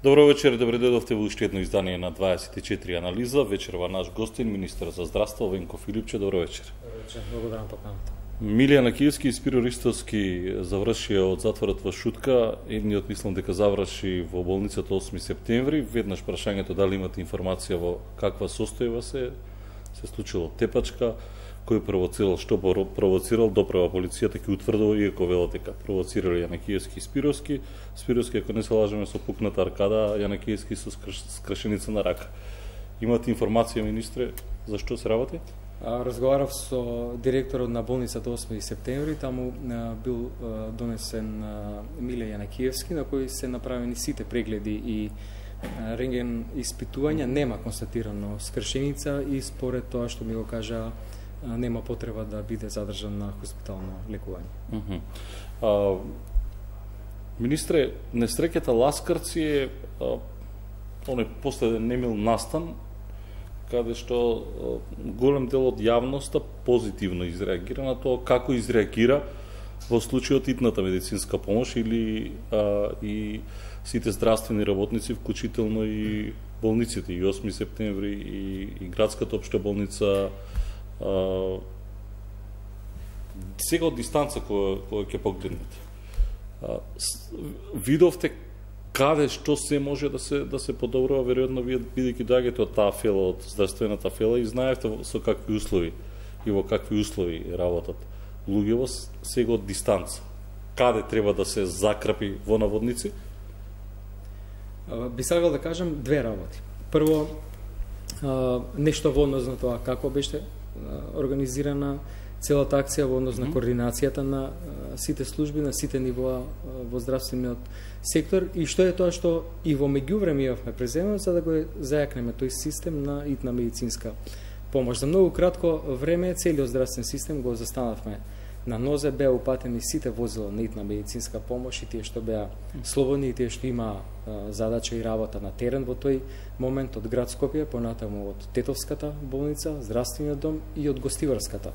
Добро вечер, добре дојдовте во уште едно издание на 24 анализа. Вечерва наш гостин, министер за здравство Венко Филипче. Добро вечер. Добро вечер, благодарам поканата. Милијан Акиевски и Спиро Ристовски завршија од затворот во Шутка. Едниот мислам дека заврши во болницата 8 септември. Веднаш прашањето дали имате информација во каква состојба се случило тепачка, кој провоцирал, што провоцирал, доправа полицијата ќе утврдува, иако велат дека провоцирале Јанакиевски и Спировски. Спировски, ако не се лажеме, со пукната аркада, Јанакиевски со скршеница на рака. Имате информација, министре, за што се работи? Разговарав со директорот на болницата 8 септември, таму бил донесен Миле Јанакиевски, на кој се направени сите прегледи и рентген испитувања, нема констатирано скршеница и според тоа што ми го кажа, нема потреба да биде задржан на хоспитално лекување. Министре, несреќата Ласкарци е последен немил настан, каде што голем дел од јавноста позитивно изреагира на тоа како изреагира во случајот итната медицинска помош или и сите здравствени работници, вклучително и болниците, и 8 септември, и градската општа болница. Сега од дистанца која ќе погледнете, видовте каде што се може да се подобрува, веројатно вие бидејќи доаѓате од таа фела, од здравствената фела, и знаевте со какви услови и во какви услови работат луѓето сега од дистанца. Каде треба да се закрапи во наводници? Би сакал да кажам две работи. Прво, нешто во однос на тоа како беше организирана целата акција во однос на координацијата на сите служби, на сите нивоа во здравствениот сектор, и што е тоа што и во меѓувреме имавме преземено за да го зајакнеме тој систем на итна медицинска помош. За многу кратко време целиот здравствен систем го застанавме на нозе, беа упатени сите возила на итна медицинска помош, и тие што беа слободни, и тие што има задача и работа на терен во тој момент од град Скопје, понатаму од Тетовската болница, здравствениот дом и од Гостиварската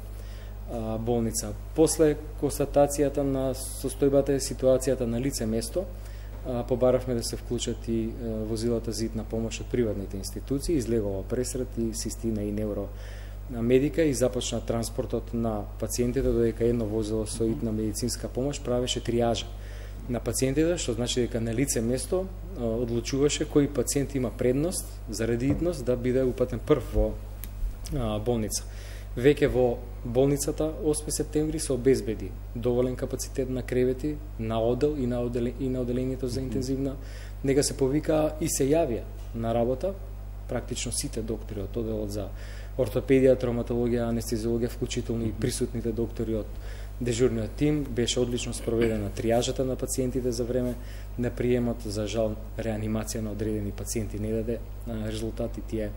болница. После констатацијата на состојбата и ситуацијата на лице место, побаравме да се вклучат и возилата за итна помош од приватните институции, излегува пресрет и систина и невромедика и започна транспортот на пациентите, додека едно возило со итна медицинска помош правеше триажа на пациентите, што значи дека на лице место одлучуваше кој пациент има предност заради итност да биде упатен прв во болница. Веќе во болницата 8 септември се обезбеди доволен капацитет на кревети, на одел и на оделението за интензивна нега се повика и се јавија на работа практично сите доктори од оделот за ортопедија, травматологија, анестезиологија, вклучително и присутните доктори од дежурниот тим. Беше одлично спроведена триажата на пациентите за време на приемот. За жал, реанимација на одредени пациенти не даде резултати, тие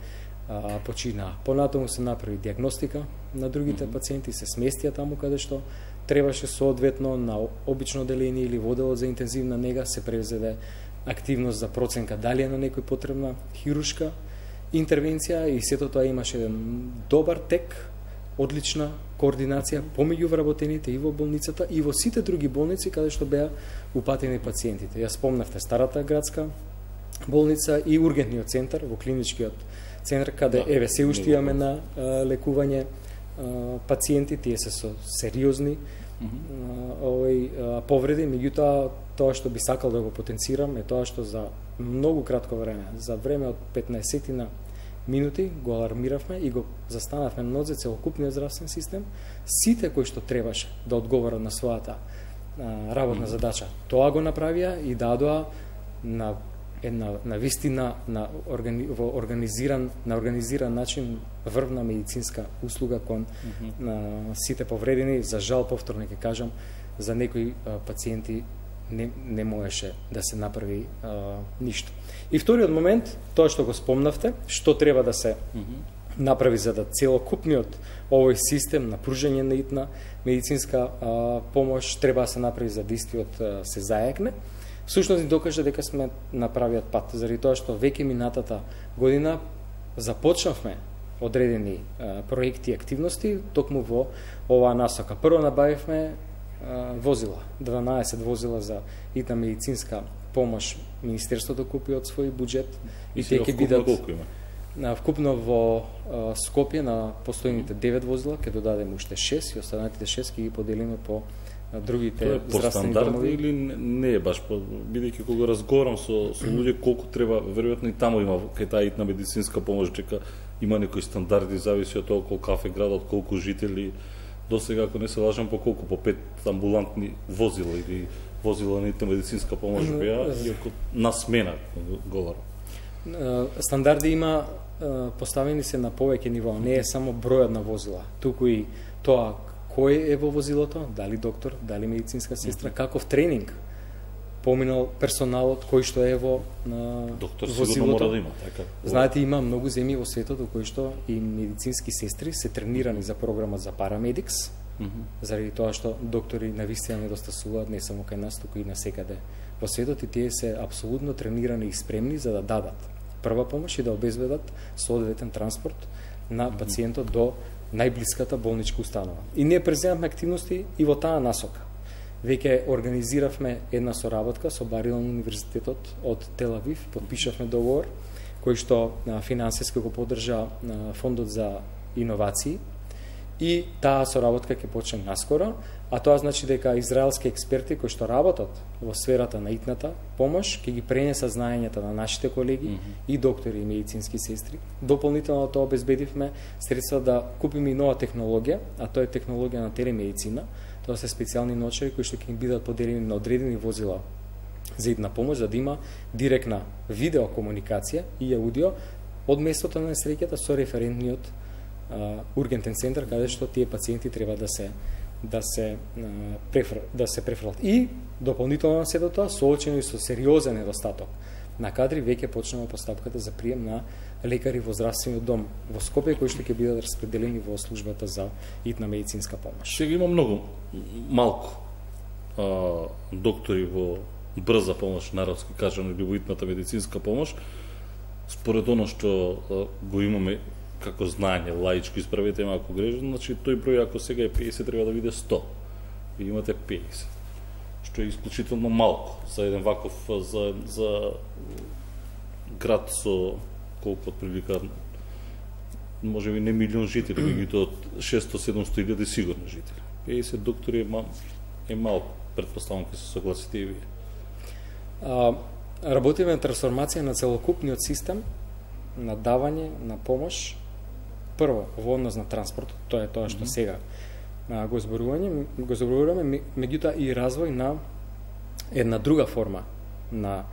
починаа. Понатаму се направи диагностика на другите пациенти, се сместија таму каде што требаше, соодветно на обично оделение или во оделот за интензивна нега се превзеде активност за проценка дали е на некој потребна хирушка интервенција, и сето тоа имаше еден добар тек, одлична координација помеѓу вработените и во болницата и во сите други болници каде што беа упатени пациентите. Ја спомнавте старата градска болница и ургентниот центар во клиничкиот центар, каде еве се уште имаме на лекување пациенти, тие се со сериозни повреди. Меѓутоа, тоа што би сакал да го потенцирам е тоа што за многу кратко време, за време од 15 минути, го алармиравме и го застанавме на нозе целокупниот здравствен систем, сите кои што требаше да одговорат на својата работна задача. Тоа го направија и дадоа на една вистина во организиран начин врвна медицинска услуга кон сите повредени. За жал, повторно ќе кажам, за некои пациенти не можеше да се направи ништо. И вториот момент, тоа што го спомнавте, што треба да се направи за да целокупниот овој систем на пружање на итна медицинска помош треба да се направи за да истиот се зајакне. Всушност ни докажа дека сме на правиот пат, заради тоа што веќе минатата година започнавме одредени проекти и активности токму во оваа насока. Прво набавивме возила, 12 возила за итна медицинска помош Министерството купи од свој буџет и тие ќе бидат колку има? Вкупно во Скопје на постојните 9 возила ќе додадеме уште 6 и останатите 6 ќе ги поделиме по другите здравствени домови. Или не е баш, бидејќи кога разговарам со луѓе колку треба, веројатно и таму има кај таа итна медицинска помош, дека има некои стандарди, зависи од тоа колку кафе градот, колку жители. До сега, ако не се лажам, по колку? По 5 амбулантни возила или возила на итна медицинска помош беа, иако на смена говорам. Стандарди има поставени се на повеќе ниво, не е само бројот на возила, туку и тоа кој е во возилото, дали доктор, дали медицинска сестра, каков тренинг поминал персоналот кој што е во доктор возилото. Сигурно мора да има, така. Знаете, има многу земји во светот во кои што и медицински сестри се тренирани за програмот за парамедикс, заради тоа што доктори навистина недостасуваат не само кај нас, туку и на секаде во светот, и тие се апсолутно тренирани и спремни за да дадат прва помош и да обезбедат соодветен транспорт на пациентот до најблиската болничка установа. И ние преземавме активности и во таа насока. Веќе организиравме една соработка со Барилан универзитетот од Тел Авив, подпишавме договор кој што финансиски го поддржа фондот за иновации, и таа соработка ќе почне наскоро, а тоа значи дека израелски експерти кои што работат во сферата на итната помош ќе ги пренесат знаењата на нашите колеги и доктори и медицински сестри. Дополнително тоа обезбедивме средства да купиме и нова технологија, а тоа е технологија на телемедицина. Тоа се специјални ночари кои што ќе им бидат поделени на одредени возила за итна помош, за да има директна видеокомуникација и аудио од местото на несреќата со референтниот ургентен центар каде што тие пациенти треба да се префрлат. И дополнително на сето тоа, соочено и со сериозен недостаток на кадри, веќе почнува постапката за прием на лекари во здравствениот дом во Скопје, кои што ќе бидат распределени во службата за итна медицинска помош. Сега има многу малку доктори во брза помош, народски кажано, или во итната медицинска помош. Според оно што го имаме како знаење, лаичко, исправете ме ако грешам, значи тој број ако сега е 50 треба да биде 100. Ви имате 50. Што е исклучително малку за еден ваков за град со колку отприлика може би не милион жители, меѓутоа 600-700 илјади сигурно жители. 50 доктори е малку, претпоставам ќе се согласите и вие. Работиме на трансформација на целокупниот систем на давање на помош. Прво, во однос на транспортот, тоа е тоа што сега го зборуваме, меѓутоа и развој на една друга форма на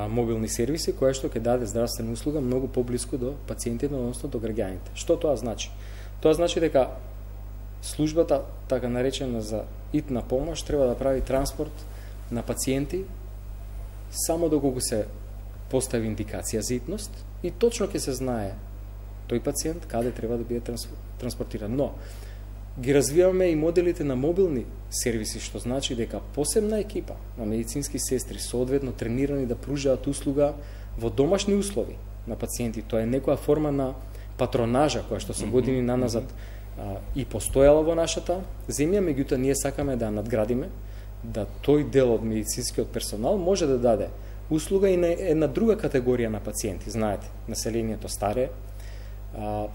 мобилни сервиси, која што ќе даде здравствена услуга многу поблиску до пациентите, односно до граѓаните. Што тоа значи? Тоа значи дека службата, така наречена за итна помош, треба да прави транспорт на пациенти само доколку се постави индикација за итност и точно ќе се знае тој пациент каде треба да биде транспортиран. Но ги развиваме и моделите на мобилни сервиси, што значи дека посебна екипа на медицински сестри соодветно тренирани да пружаат услуга во домашни услови на пациенти. Тоа е некоја форма на патронажа која што со години наназад и постојала во нашата земја, меѓутоа ние сакаме да надградиме, да тој дел од медицинскиот персонал може да даде услуга и на една друга категорија на пациенти. Знаете, населението старе,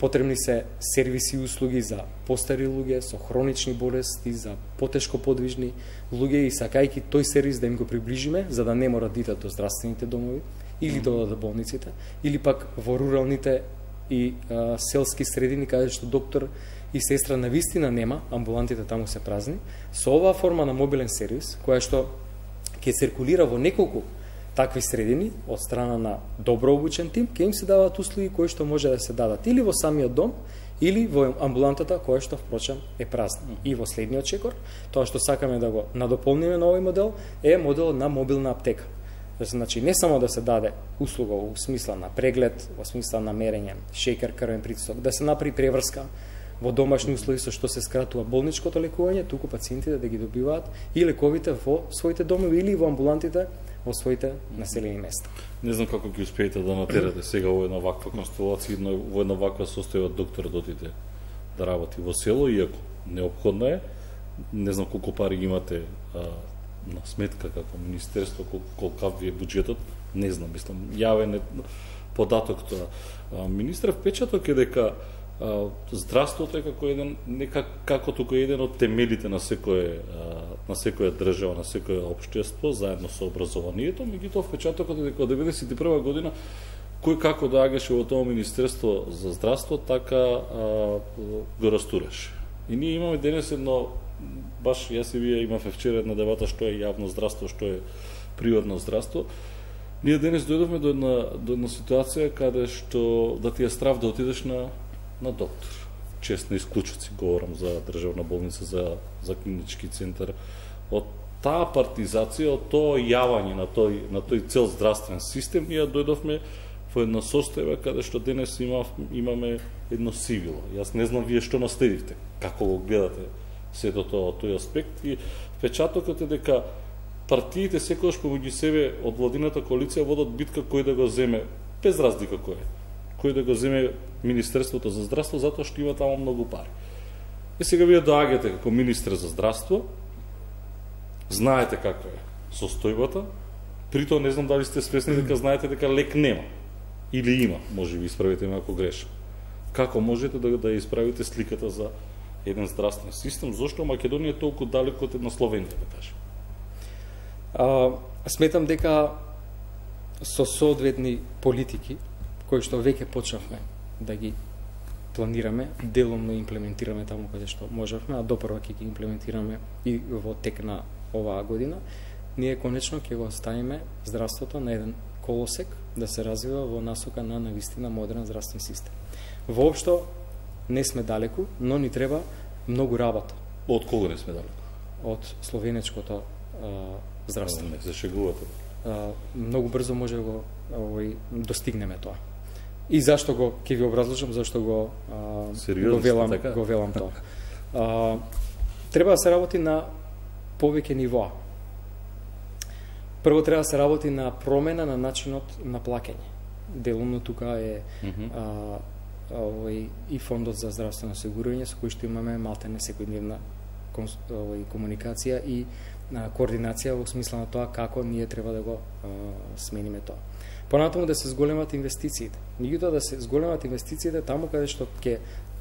потребни се сервиси и услуги за постари луѓе со хронични болести, за потешко подвижни луѓе, и сакајќи тој сервис да им го приближиме, за да не морат да идат до здравствените домови или до болниците, или пак во руралните и селски средини каде што доктор и сестра навистина нема, амбулантите таму се празни. Со оваа форма на мобилен сервис, која што ќе циркулира во неколку такви средини од страна на добро обучен тим, ќе им се даваат услуги кои што може да се дадат или во самиот дом, или во амбулантата која што впрочем е празна. И во следниот чекор, тоа што сакаме да го надополниме на овој модел е модел на мобилна аптека. Значи не само да се даде услуга во смисла на преглед, во смисла на мерење шеќер, крвен притисок, да се направи преврска во домашни услови со што се скратува болничкото лекување, туку пациентите да ги добиваат и лековите во своите домови или во амбулантите во своите населени места. Не знам како ќе успеете да натерате сега во една ваква констелација, во една ваква состојба доктор да отиде да работи во село, иако неопходно е, не знам колку пари имате на сметка како министерство, колкав ви е буџетот, не знам, мислам, јавен е податок тоа. Министров печаток е дека здравството е како еден, како туку еден од темелите на секоја држава, на секоја општество, заедно со образованието, меѓутоа впечатокот е дека од 91 година кој како доаѓаше во тоа Министерство за здравство, така го растураше. И ние имаме денес едно, баш јас и вие имавме вчера една дебата што е јавно здравство, што е приватно здравство. Ние денес дојдовме до една ситуација каде што да ти е страв да отидеш на доктор. Чест на исклучоци, говорам за државна болница, за клинички центар. Од таа партизација, од тоа јавање на тој цел здравствен систем, ние дојдовме во една состојба каде што денес имаме едно сивило. Јас не знам вие што наследивте, како го гледате сето тоа, тој аспект, и впечатокот е дека партиите секогаш помеѓу себе од владината коалиција водат битка кој да го земе, без разлика кој да го земе Министерството за здравство, затоа што има таму многу пари. И сега вие доаѓате како министер за здравство, знаете каква е состојбата, притоа не знам дали сте свесни дека знаете дека лек нема. Или има, може би исправите ме ако грешам. Како можете да исправите сликата за еден здравствен систем? Зошто Македонија е толку далеко од една Словенија, да кажем? Сметам дека со соодветни политики, кои што веќе почнавме да ги планираме, деломно имплементираме таму каде што можевме, а допрва ќе ги имплементираме и во тек на оваа година, ние конечно ќе го ставиме здравството на еден колосек да се развива во насока на навистина модерен здравствен систем. Воопшто не сме далеку, но ни треба многу работа. Од кого не сме далеку? Од словенечкото здравство. Не се шегувате. Многу брзо може да го достигнеме тоа. И зашто ќе ви образложам, зашто го велам тоа. Треба да се работи на повеќе нивоа. Прво треба да се работи на промена на начинот на плаќање. Делумно тука е и фондот за здравствено осигурување со кој што имаме малтене секојдневна комуникација и координација во смисла на тоа како ние треба да го смениме тоа. Понатаму да се зголемат инвестициите. Меѓутоа да се зголемат инвестициите таму каде што ќе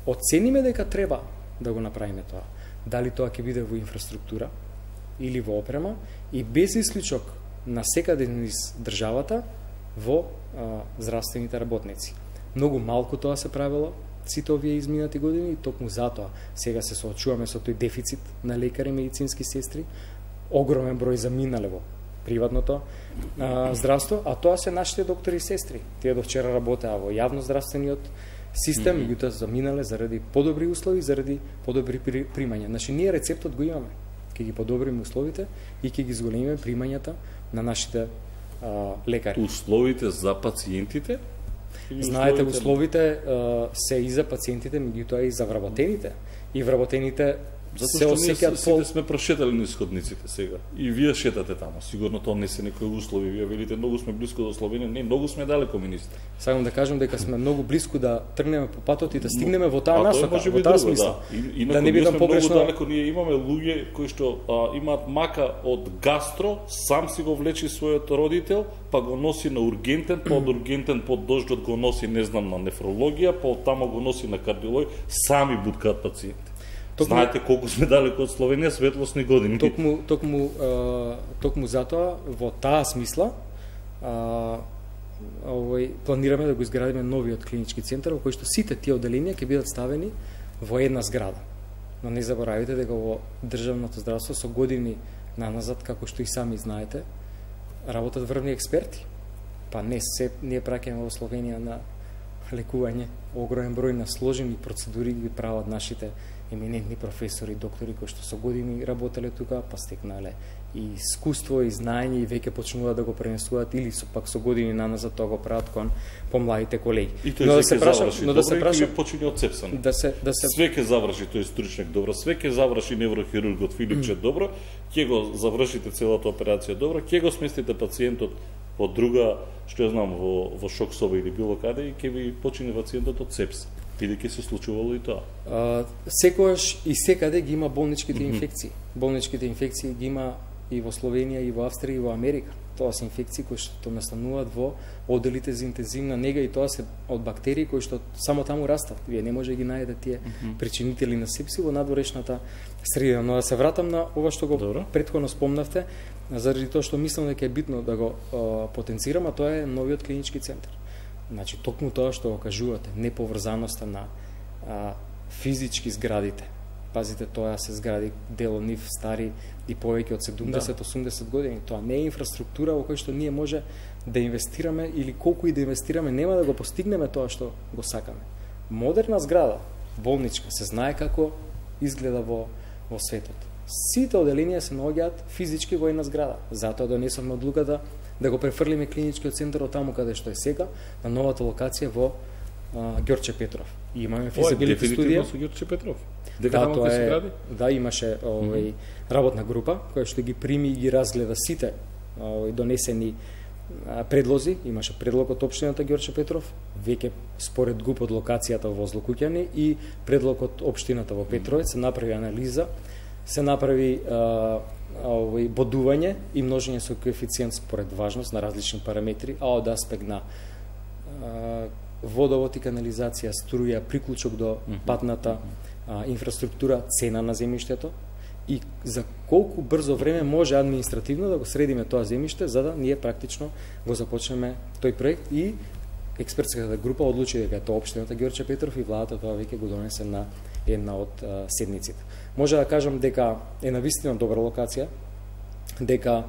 оцениме дека треба да го направиме тоа. Дали тоа ќе биде во инфраструктура или во опрема, и без исклучок на секаде низ државата во здравствените работници. Многу малку тоа се правило сите овие изминати години и токму затоа сега се соочуваме со тој дефицит на лекари и медицински сестри, огромен број заминале во приватното здравство, а тоа се нашите доктори и сестри. Тие до вчера работеа во јавно здравствениот систем, меѓутоа заминале заради подобри услови, заради подобри примања. Значи ние рецептот го имаме. Ќе ги подобриме условите и ќе ги зголемиме примањата на нашите лекари. Условите за пациентите? Знаете, условите се и за пациентите, меѓутоа и за вработените. И вработените се осеќаат сите сме прошетали низ ходниците сега. И вие шетате таму. Сигурно тоа не се некои услови. Вие велите многу сме блиску до Словенија, не, многу сме далеко, министр. Сакам да кажам дека сме многу блиску да тргнеме по патот и да стигнеме во таа насока, во таа смисла. Да не бидам погрешно. Многу далеко, ние имаме луѓе кои што имаат мака од гастро, сам си го влечи својот родител, па го носи на ургентен, па од ургентен под дождот го носи, не знам, на нефрологија, па од тамо го носи на кардиологија, сами буткаат пациенти. Знаете колку сме далеко од Словенија, светлосни години. Токму затоа, во таа смисла, планираме да го изградиме новиот клинички центар, во кој што сите тие оделенија ќе бидат ставени во една зграда. Но не заборавите дека во државното здравство со години наназад, како што и сами знаете, работат врвни експерти. Па не се ние праќаме во Словенија на лекување, огромен број на сложени процедури ги прават нашите еминентни професори, доктори кои што со години работеле тука, па стекнале и искуство и знаење и веќе почнуваат да го пренесуваат или пак со години наназад тоа го прават кон помладите колеги. И тој да се заврши добро и почине од цепсани. Све ќе заврши тој стручник добро, све ќе заврши неврохирургот Филипче добро, ќе го завршите целата операција добро, ќе го сместите пациентот во друга, што ја знам, во шок соба или било каде и ќе ви почине пациентот од сепса. Бидејќи се случувало и тоа. Секогаш и секаде ги има болничките инфекции. Болничките инфекции ги има и во Словенија, и во Австрија, и во Америка. Тоа се инфекции кои што настануваат во оделите за интензивна нега, и тоа се од бактерии кои што само таму растат. Вие не може да ги најдете тие причинители на сепси во надворешната средина. Но да се вратам на ова што го претходно спомнавте, заради тоа што мислам дека е битно да го потенцирам, а тоа е новиот клинички центар. Значи, токму тоа што го кажувате, неповрзаноста на физички зградите. Пазите, тоа се згради, дел од нив стари и повеќе од 70-80 години. Тоа не е инфраструктура во која што ние може да инвестираме, или колку и да инвестираме, нема да го постигнеме тоа што го сакаме. Модерна зграда, болничка, се знае како изгледа во светот. Сите оделенија се наоѓаат физички во една зграда. Затоа донесовме одлуката да го префрлиме клиничкиот центар од таму каде што е сега, на новата локација во Ѓорче Петров. И имаме физибилити студија со Ѓорче Петров. Да, имаше работна група која што ги прими и ги разгледа сите донесени предлози. Имаше предлог од општината Ѓорче Петров, веќе според ГУП од локацијата во Злокуќани, и предлог од општината во Петровец. Се направи анализа, се направи бодување и множење со коефициент според важност на различни параметри, а од аспект на водовод и канализација, струја, приклучок до патната инфраструктура, цена на земјиштето и за колку брзо време може административно да го средиме тоа земјиште, за да ние практично го започнеме тој проект. И експертската група одлучи дека е тоа општината Ѓорче Петров и владата тоа веќе го донесе на една од седниците. Може да кажам дека е навистина добра локација, дека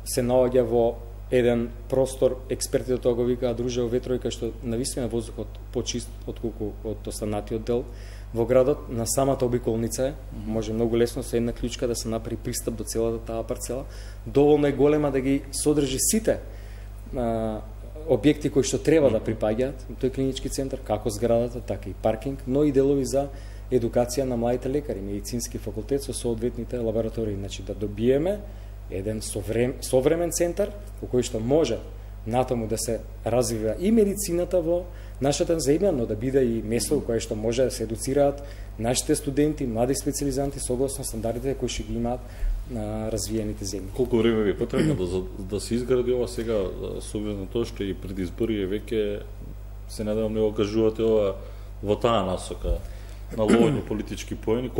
се наоѓа во еден простор, експертите тоа го викаат дружево ветрови, кај што навистина воздухот почист отколку од останатиот дел во градот. На самата обиколница може многу лесно со една клучка да се направи пристап до целата таа парцела. Доволно е голема да ги содржи сите објекти кои што треба да припаѓаат тој клинички центар, како зградата, така и паркинг, но и делови за едукација на младите лекари, медицински факултет со соодветните лаборатории. Значи да добиеме еден современ центар во кој што може натаму да се развива и медицината во нашата земја, но да биде и место во кое што може да се едуцираат нашите студенти, млади специализанти согласно стандардите кои што ги имаат на развиените земји. Колку време ви е потребно да се изгради ова сега, со оглед на тоа што и пред избори веќе се надевам не го кажувате ова во таа насока на ловење политички поени, за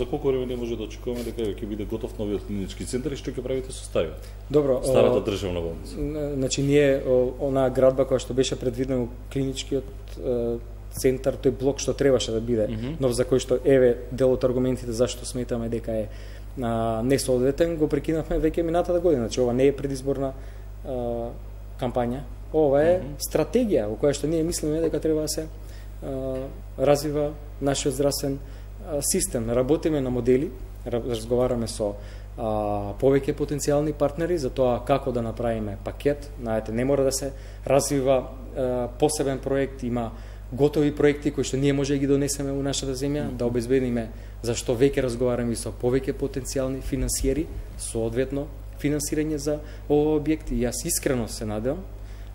колку време не може да очекуваме дека ќе биде готов новиот клинички центар и што ќе правите со стариот? Добро, старата државна болница. Значи ние онаа градба која што беше предвидена клиничкиот центар, тој блок што требаше да биде, но за кој што дел од аргументите зашто сметаме дека е несоодветен, го прекинавме веќе минатата година. Значи ова не е предизборна кампања, ова е стратегија во која што ние мислиме дека треба да се развива нашиот здравствен систем. Работиме на модели, разговараме со повеќе потенцијални партнери за тоа како да направиме пакет. Знаете, не мора да се развива посебен проект, има готови проекти кои што ние може да ги донесеме во нашата земја, да обезбедиме, зашто веќе разговараме со повеќе потенцијални финансиери, соодветно финансирање за овој објект, и јас искрено се надевам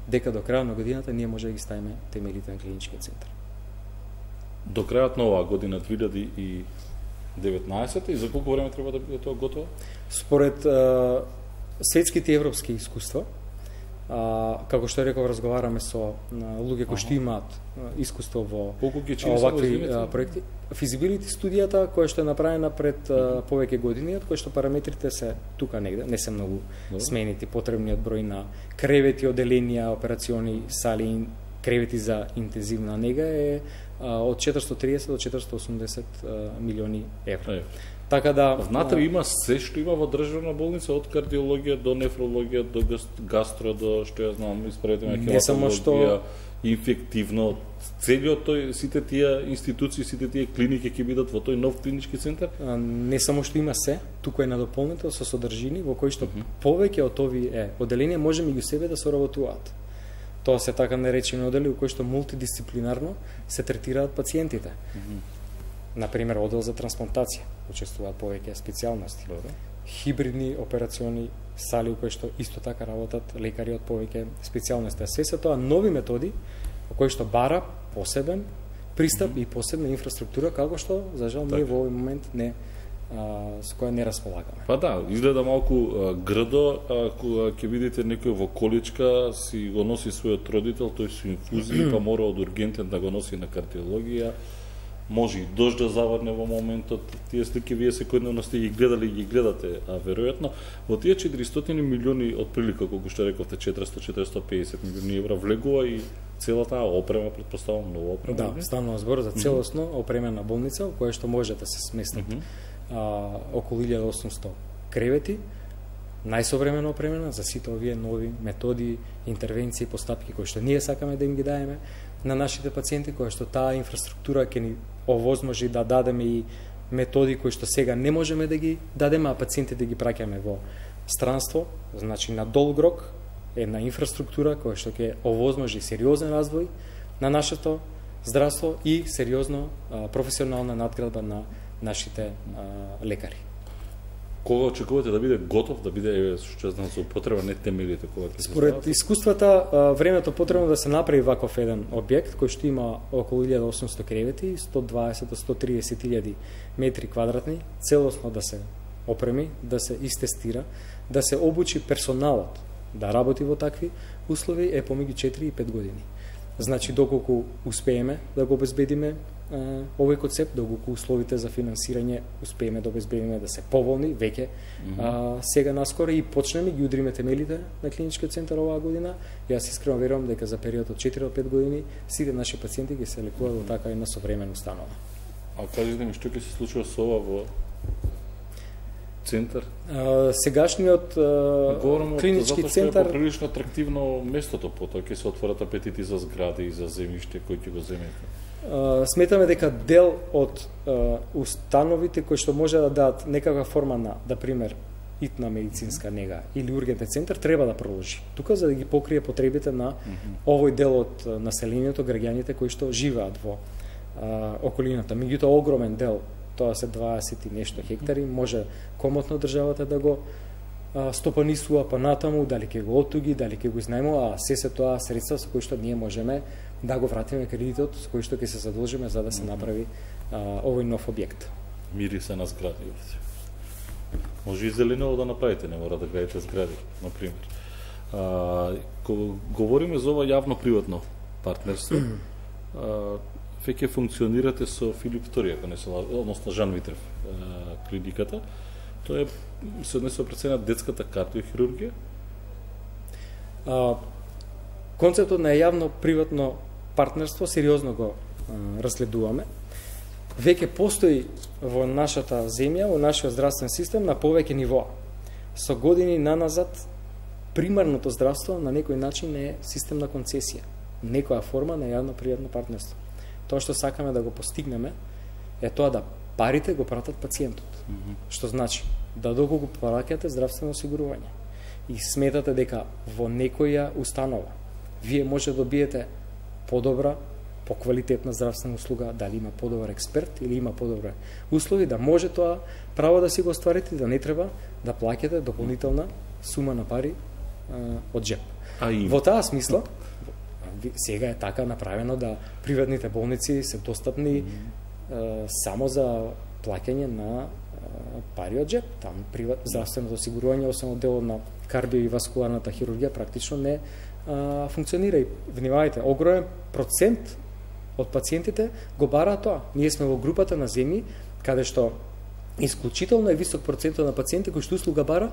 дека до крајот на годината ние може да ги ставиме темелите на клиничкиот центар. До крајот на оваа година 2019 и за колку време треба да биде тоа готово? Според светските европски искуства, како што реков, разговараме со луѓе кои што имаат искуство во овакви проекти. Физибилити студијата која што е направена пред повеќе години, од која што параметрите се тука негде, не се многу сменити. Потребниот број на кревети, оделенија, операциони сали, кревети за интензивна нега е од 430 до 480 милиони евра. Така да внатре има се што има во државна болница, од кардиологија до нефрологија до гастро до што ја знам, исправете ме, хематологија, инфективно, целиот тој, сите тие институции, сите тие клиники ќе бидат во тој нов клинички центар? Не само што има се, туку е надополнето со содржини во кои што повеќе од овие оделенија може меѓу себе да соработуваат. Тоа се така наречени одели во кои што мултидисциплинарно се третираат пациентите. Например, одел за трансплантација, учествуваат повеќе специјалности. Хибридни операциони сали во кои што исто така работат лекари од повеќе специјалности. Се тоа нови методи во кои што бара посебен пристап и посебна инфраструктура, како што, за жал, ние во овој момент не со која не располагаме. Па да, изгледа малку грдо, кога ќе видите некој во количка, си го носи својот родител, тој со инфузија, па мора од ургентен да го носи на кардиологија, може и дожд да заврне во моментот. Тие слики вие секојдневно сте ги гледали и ги гледате, а веројатно во тие 400 милиони отприлика, колку што рековте, 400-450 милиони евра влегува и целата опрема, претпоставам, нова опрема. Да, станува збор за целосно опремена болница, во која што може да се сместат околу 1800 кревети, најсовремено опремена за сите овие нови методи, интервенции, постапки кои што ние сакаме да им ги даеме на нашите пациенти, кои што таа инфраструктура ќе ни овозможи да дадеме и методи кои што сега не можеме да ги дадеме, а пациентите ги праќаме во странство, значи на долг рок, една инфраструктура која што ќе овозможи сериозен развој на нашето здравство и сериозно професионална надградба на нашите лекари. Кога очекувате да биде готов, да биде што знам со употреба, не темелите кога ќе се Според искуствата, времето потребно да се направи ваков еден објект кој што има околу 1800 кревети, 120 до 130.000 метри квадратни, целосно да се опреми, да се истестира, да се обучи персоналот да работи во такви услови е помеѓу 4 и 5 години. Значи, доколку успееме да го обезбедиме овој концепт, доколку условите за финансирање успееме да обезбедиме да се поволни, веќе сега наскоро и почнеме ги удриме темелите на клиничкиот центар оваа година. Јас искрено верувам дека за период од 4 до 5 години сите наши пациенти ќе се лекуваат во така една современа установа. А кажете ми, што ќе се случува со ова во центар? Сегашниот клинички центар е прилично атрактивно местото, потоа ќе се отворат апетити за згради и за земјиште кои ќе го земете. Сметаме дека дел од установите кои што може да дадат некаква форма на, да пример, итна медицинска нега или ургентен центар треба да продолжи. Тука за да ги покрие потребите на овој дел од населението, граѓаните кои што живеат во околината. Меѓутоа огромен дел, тоа се 20 и нешто хектари, може комотно државата да го стопанисува па натаму, дали ќе го оттуги, дали ќе го изнајмува, а се тоа средства со кои што ние можеме да го вратиме кредитот, со кои што ќе се задолжиме за да се направи овој нов објект. Мири се на згради. Може и зелено да направите, не мора да градите згради, например. Кога говориме за ова јавно-приватно партнерство, веќе функционирате со Филип II, ако не се лажам, односно Жан Витрев клиниката. Тоа се однесува пред се на детската кардиохирургија? Концептот на јавно-приватно партнерство сериозно го разгледуваме. Веќе постои во нашата земја, во нашиот здравствен систем на повеќе нивоа. Со години наназад, примарното здравство на некој начин е систем на концесија, некоја форма на јавно-приватно партнерство. Тоа што сакаме да го постигнеме е тоа да парите го пратат пациентот. Што значи да доколку плаќате здравствено осигурување и сметате дека во некоја установа вие може да добиете подобра, поквалитетна здравствена услуга, дали има подобар експерт или има подобри услови, да може тоа право да си го остварите, да не треба да плаќате дополнителна сума на пари од джеп. Во таа смисла, сега е така направено да приватните болници се достапни само за плаќање на пари од джеп. Там здравственото осигурување, освен од делот на кардио и васкуларната хирургија, практично не функционира. И внимавајте, огромен процент од пациентите го бараат тоа. Ние сме во групата на земји каде што исклучително е висок процентот на пациенти кои што услуга бара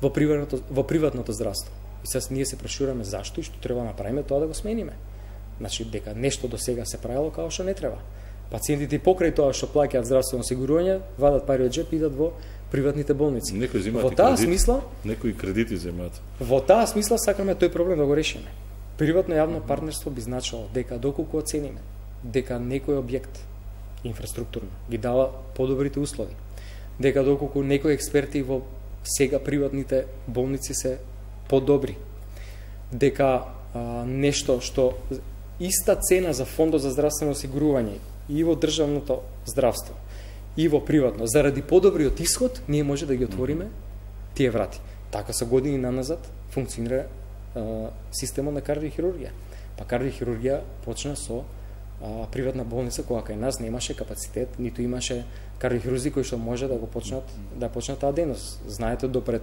во приватното здравство. И сега ние се прашуваме зашто и што треба да направиме тоа да го смениме. Значи дека нешто до сега се правило како што не треба. Пациентите покрај тоа што плаќаат здравствено осигурување, вадат пари од джеп и идат во приватните болници. Во таа смисла, некои кредити земаат. Во таа смисла сакаме тој проблем да го решиме. Приватно јавно партнерство би значило дека доколку оцениме дека некој објект инфраструктурно ги дава подобрите услови, дека доколку некои експерти во сега приватните болници се подобри, дека нешто што иста цена за фондот за здравствено осигурување и во државното здравство и во приватно, заради подобриот исход, ние може да ги отвориме тие врати. Така со години наназад функционира системот на кардиохирургија. Па кардиохирургија почна со приватна болница која кај нас немаше капацитет, ниту имаше кардиохирурзи кои што може да го почнат таа дејност. Знаете, допред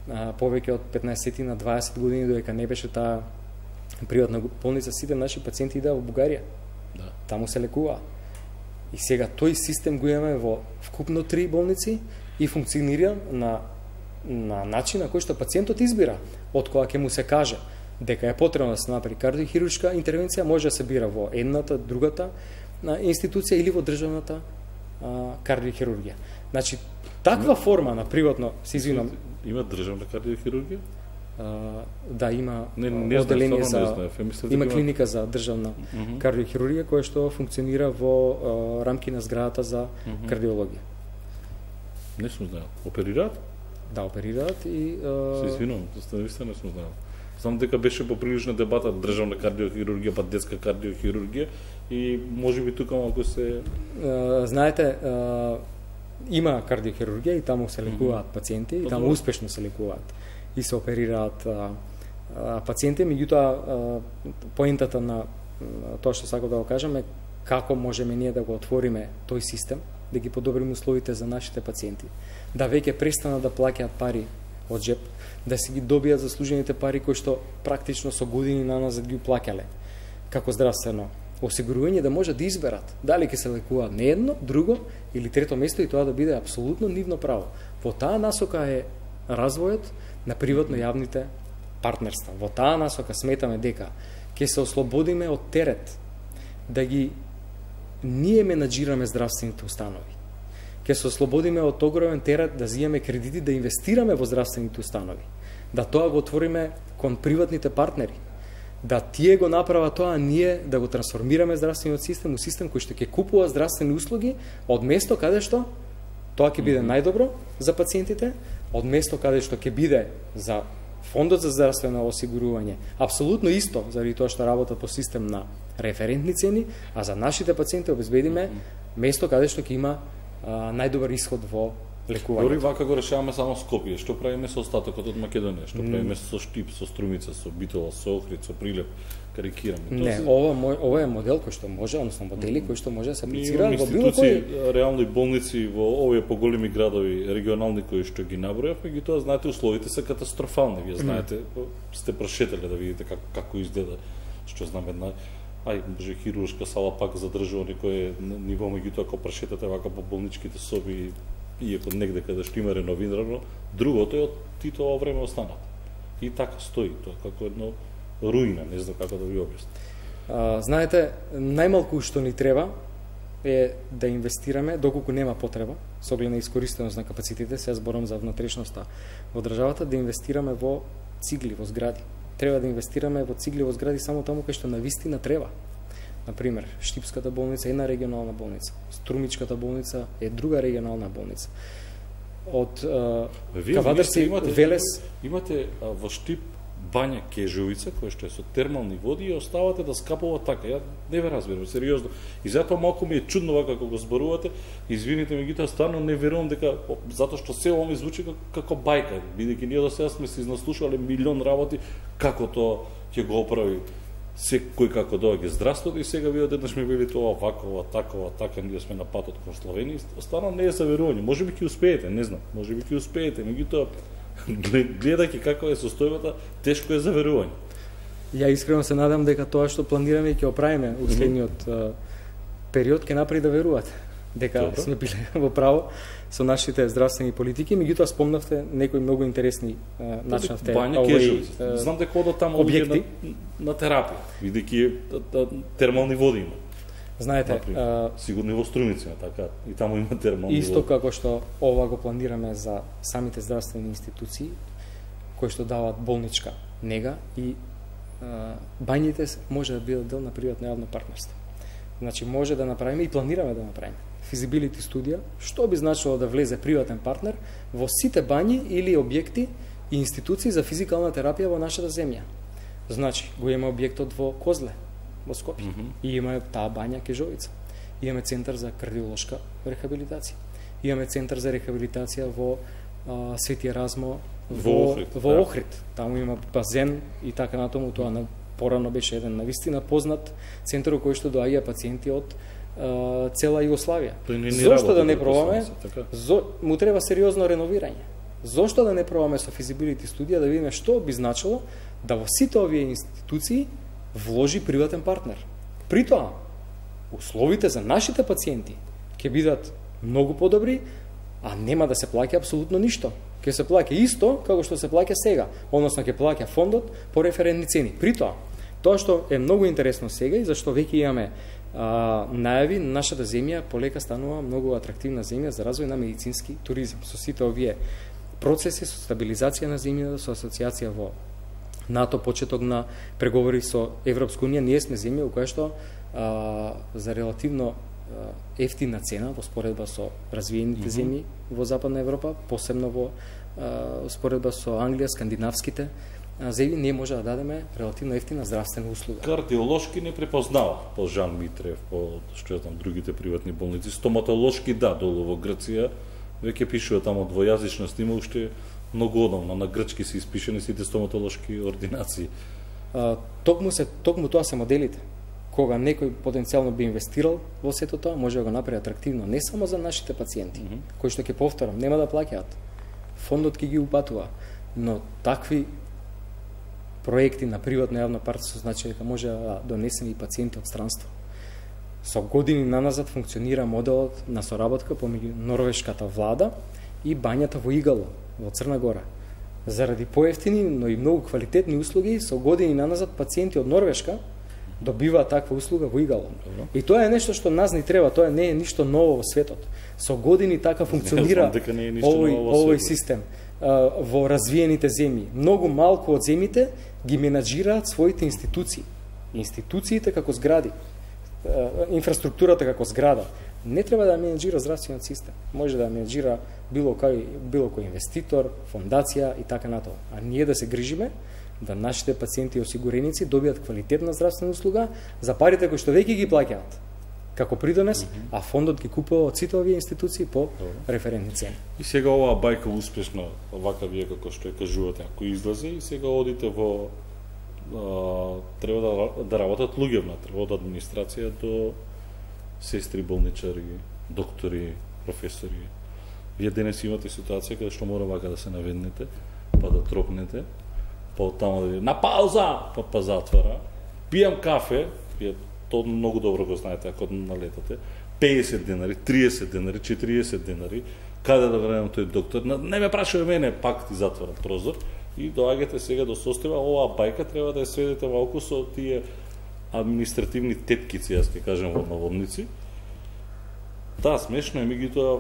повеќе од 15 на 20 години додека не беше таа приватна болница, сите наши пациенти идеа во Бугарија. Да. Таму се лекуваа. И сега тој систем го имаме во вкупно 3 болници и функционира на начин на кој што пациентот избира од кога ќе му се каже дека е потребно да се направи кардиохируршка интервенција, може да се бира во едната, другата институција или во државната кардиохирургија. Значи, таква форма на приватно, се извинам, има државна кардиохирургија? Да, има одделение има клиника за државна кардиохирургија која што функционира во рамки на зградата за кардиологија. Не сум знаел. Оперираат? Да, оперираат и се извинувам, не сум знаел. Знам дека беше поприлична дебата државна кардиохирургија па детска кардиохирургија и можеби тука малку се знаете, има кардиохирургија и таму се лекуваат пациенти и таму успешно се лекуваат и се оперираат пациенти, меѓутоа поентата на тоа што сакам да го кажам е како можеме ние да го отвориме тој систем, да ги подобриме условите за нашите пациенти, да веќе престанат да плаќаат пари од джеп, да си ги добијат заслужените пари кои што практично со години наназад ги плаќале како здравствено осигурување, да може да изберат дали ќе се лекуваат не едно, друго или трето место и тоа да биде апсолутно нивно право. Во таа насока е развојот на приватно-јавните партнерства. Во таа насока сметаме дека ќе се ослободиме од терет да ги ние менаџираме здравствените установи. Ќе се ослободиме од огромен терет да зијаме кредити, да инвестираме во здравствените установи. Да тоа го отвориме кон приватните партнери. Да тие го направат тоа, ние да го трансформираме здравствениот систем у систем кој што ќе купува здравствени услуги од место каде што тоа ќе биде најдобро за пациентите, од место каде што ќе биде за фондот за здравствено осигурување апсолутно исто, заради тоа што работат по систем на референтни цени, а за нашите пациенти обезбедиме место каде што ќе има најдобар исход во лекување. Дори вака го решаваме само Скопје, што правиме со остатокот од Македонија, што правиме со Штип, со Струмица, со Битола, со Охрид, со Прилеп, карикираме. Не, ова е модел кој што може, односно модели кои што може да се аплицира во било кој реални болници во овие поголеми градови, регионални кои што ги набројав, меѓутоа знаете условите се катастрофални. Вие знаете, сте прошетале да видите како изгледа, што знам една може хируршка сала пак задржува некој ниво, меѓутоа ако прошетате вака по болничките соби, иако негде каде што има реновирано, другото е од Титово време останато. И така стои тоа како едно руина, не знам како да ви објаснам. Знаете, најмалку што ни треба е да инвестираме доколку нема потреба, со оглед на искористеност на капацитетите, се зборам за внатрешноста во државата, да инвестираме во цигли, во згради. Треба да инвестираме во цигли во згради само таму кај што навистина треба. Например, Штипската болница е една регионална болница, Струмичката болница е друга регионална болница. Од Кавадарци, Велес... Имате во Штип бања Кежовица, која што е со термални води и оставате да скапува така. Ја не ве разбирам, сериозно. И затоа малку ми е чудно вака како го зборувате. Извините, меѓутоа стварно не верувам дека затоа што се ова ми звучи како бајка, бидејќи ние до сега сме се изнаслушале милион работи како тоа ќе го оправи секој како доаѓа здравството и сега ви одеднаш ми велите ова вака, така, ние сме на патот кон Словенија. Стварно не е за верување. Можеби ќе успеете, не знам. Можеби ќе успеете, меѓутоа гледајќи каква е состојбата, тешко е за верување. Ја искрено се надам дека тоа што планираме и ќе оправиме у следниот период ќе направи да верувате дека сме биле во право со нашите здравствени политики, меѓутоа спомнавте некои многу интересни начинавте знам дека одат таму објекти на терапија, бидејќи термални води има. Знаете, сигурно и во Струмица, така, и таму има термални води. Исто како што ова го планираме за самите здравствени институции кои што даваат болничка нега и бањите може да бидат дел на приватно-јавно партнерство. Значи може да направиме и планираме да направиме физибилити студија, што би значило да влезе приватен партнер во сите бањи или објекти и институции за физикална терапија во нашата земја. Значи, го има објектот во Козле, во Скопје, и има таа бања Кежовица. Имаме центар за кардиолошка рехабилитација. Имаме центар за рехабилитација во Свети Еразмо во Охрид. Таму има базен и така натаму, тоа порано беше еден навистина познат центар кој што доаѓа пациенти од цела Југославија. Зошто да не пробаме? Му треба сериозно реновирање. Зошто да не пробаме со физибилити студија да видиме што би значило да во сите овие институции вложи приватен партнер. При тоа, условите за нашите пациенти ќе бидат многу подобри, а нема да се плаќа апсолутно ништо. Ќе се плаќа исто како што се плаќа сега, односно ќе плаќа фондот по референтни цени. При тоа што е многу интересно сега и зашто веќе имаме најави, нашата земја полека станува многу атрактивна земја за развој на медицински туризам. Со сите овие процеси, со стабилизација на земјата, со асоциација во НАТО, почеток на преговори со Европска унија, ние сме земја во која што за релативно ефтина цена во споредба со развиените земји во Западна Европа, посебно во споредба со Англија, скандинавските земји, ние може да дадеме релативно ефтина здравствена услуга. Кардиолошки не препознава по Жан Митрев, по што ја знам другите приватни болници. Стоматолошки долу во Грција веќе пишува тамо двојазичност, има уште многу одамна, на грчки се испишени сите стоматолошки ординации. Токму тоа се моделите. Кога некој потенцијално би инвестирал во сето тоа, може да го направи атрактивно не само за нашите пациенти, кои што ќе повторам, нема да плаќаат. Фондот ќе ги упатува, но такви проекти на приватно јавно партнерство значи дека може да донесеме и пациенти од странство. Со години наназад функционира моделот на соработка помеѓу норвешката влада и бањата во Игало, во Црна Гора. Заради поевтини, но и многу квалитетни услуги, со години наназад пациенти од Норвешка добива таква услуга во Игало. И тоа е нешто што нас ни треба, тоа не е ништо ново во светот. Со години така функционира овој систем во развиените земји. Многу малку од земјите ги менаџираат своите институции. Институциите како згради, инфраструктурата како зграда. Не треба да менаџира здравствениот систем. Може да менаџира било кој инвеститор, фондација и така натаму. А ние да се грижиме да нашите пациенти и осигуреници добијат квалитетна здравствена услуга за парите кои што веќе ги плаќаат како придонес, а фондот ги купува од сите овие институции по референтни цени. И сега оваа бајка успешно, вака вие како што ја кажувате, ако излезе и сега одите во треба да работат луѓе внатре, од администрација до сестри, болничари, доктори, професори. Вие денес имате ситуација каде што мора вака да се наведнете, па да тропнете, па оттаму да ви на пауза, па затвора. Пијам кафе, вие тоа многу добро го знаете ако налетате. 50 денари, 30 денари, 40 денари, каде да вредам тој доктор? Не ме прашува мене, пак ти затвора прозор. И доаѓате сега до состојба, оваа бајка треба да ја сведете малку со тие административни теткици, јас ќе кажем во наводници. Да, смешно е, меѓутоа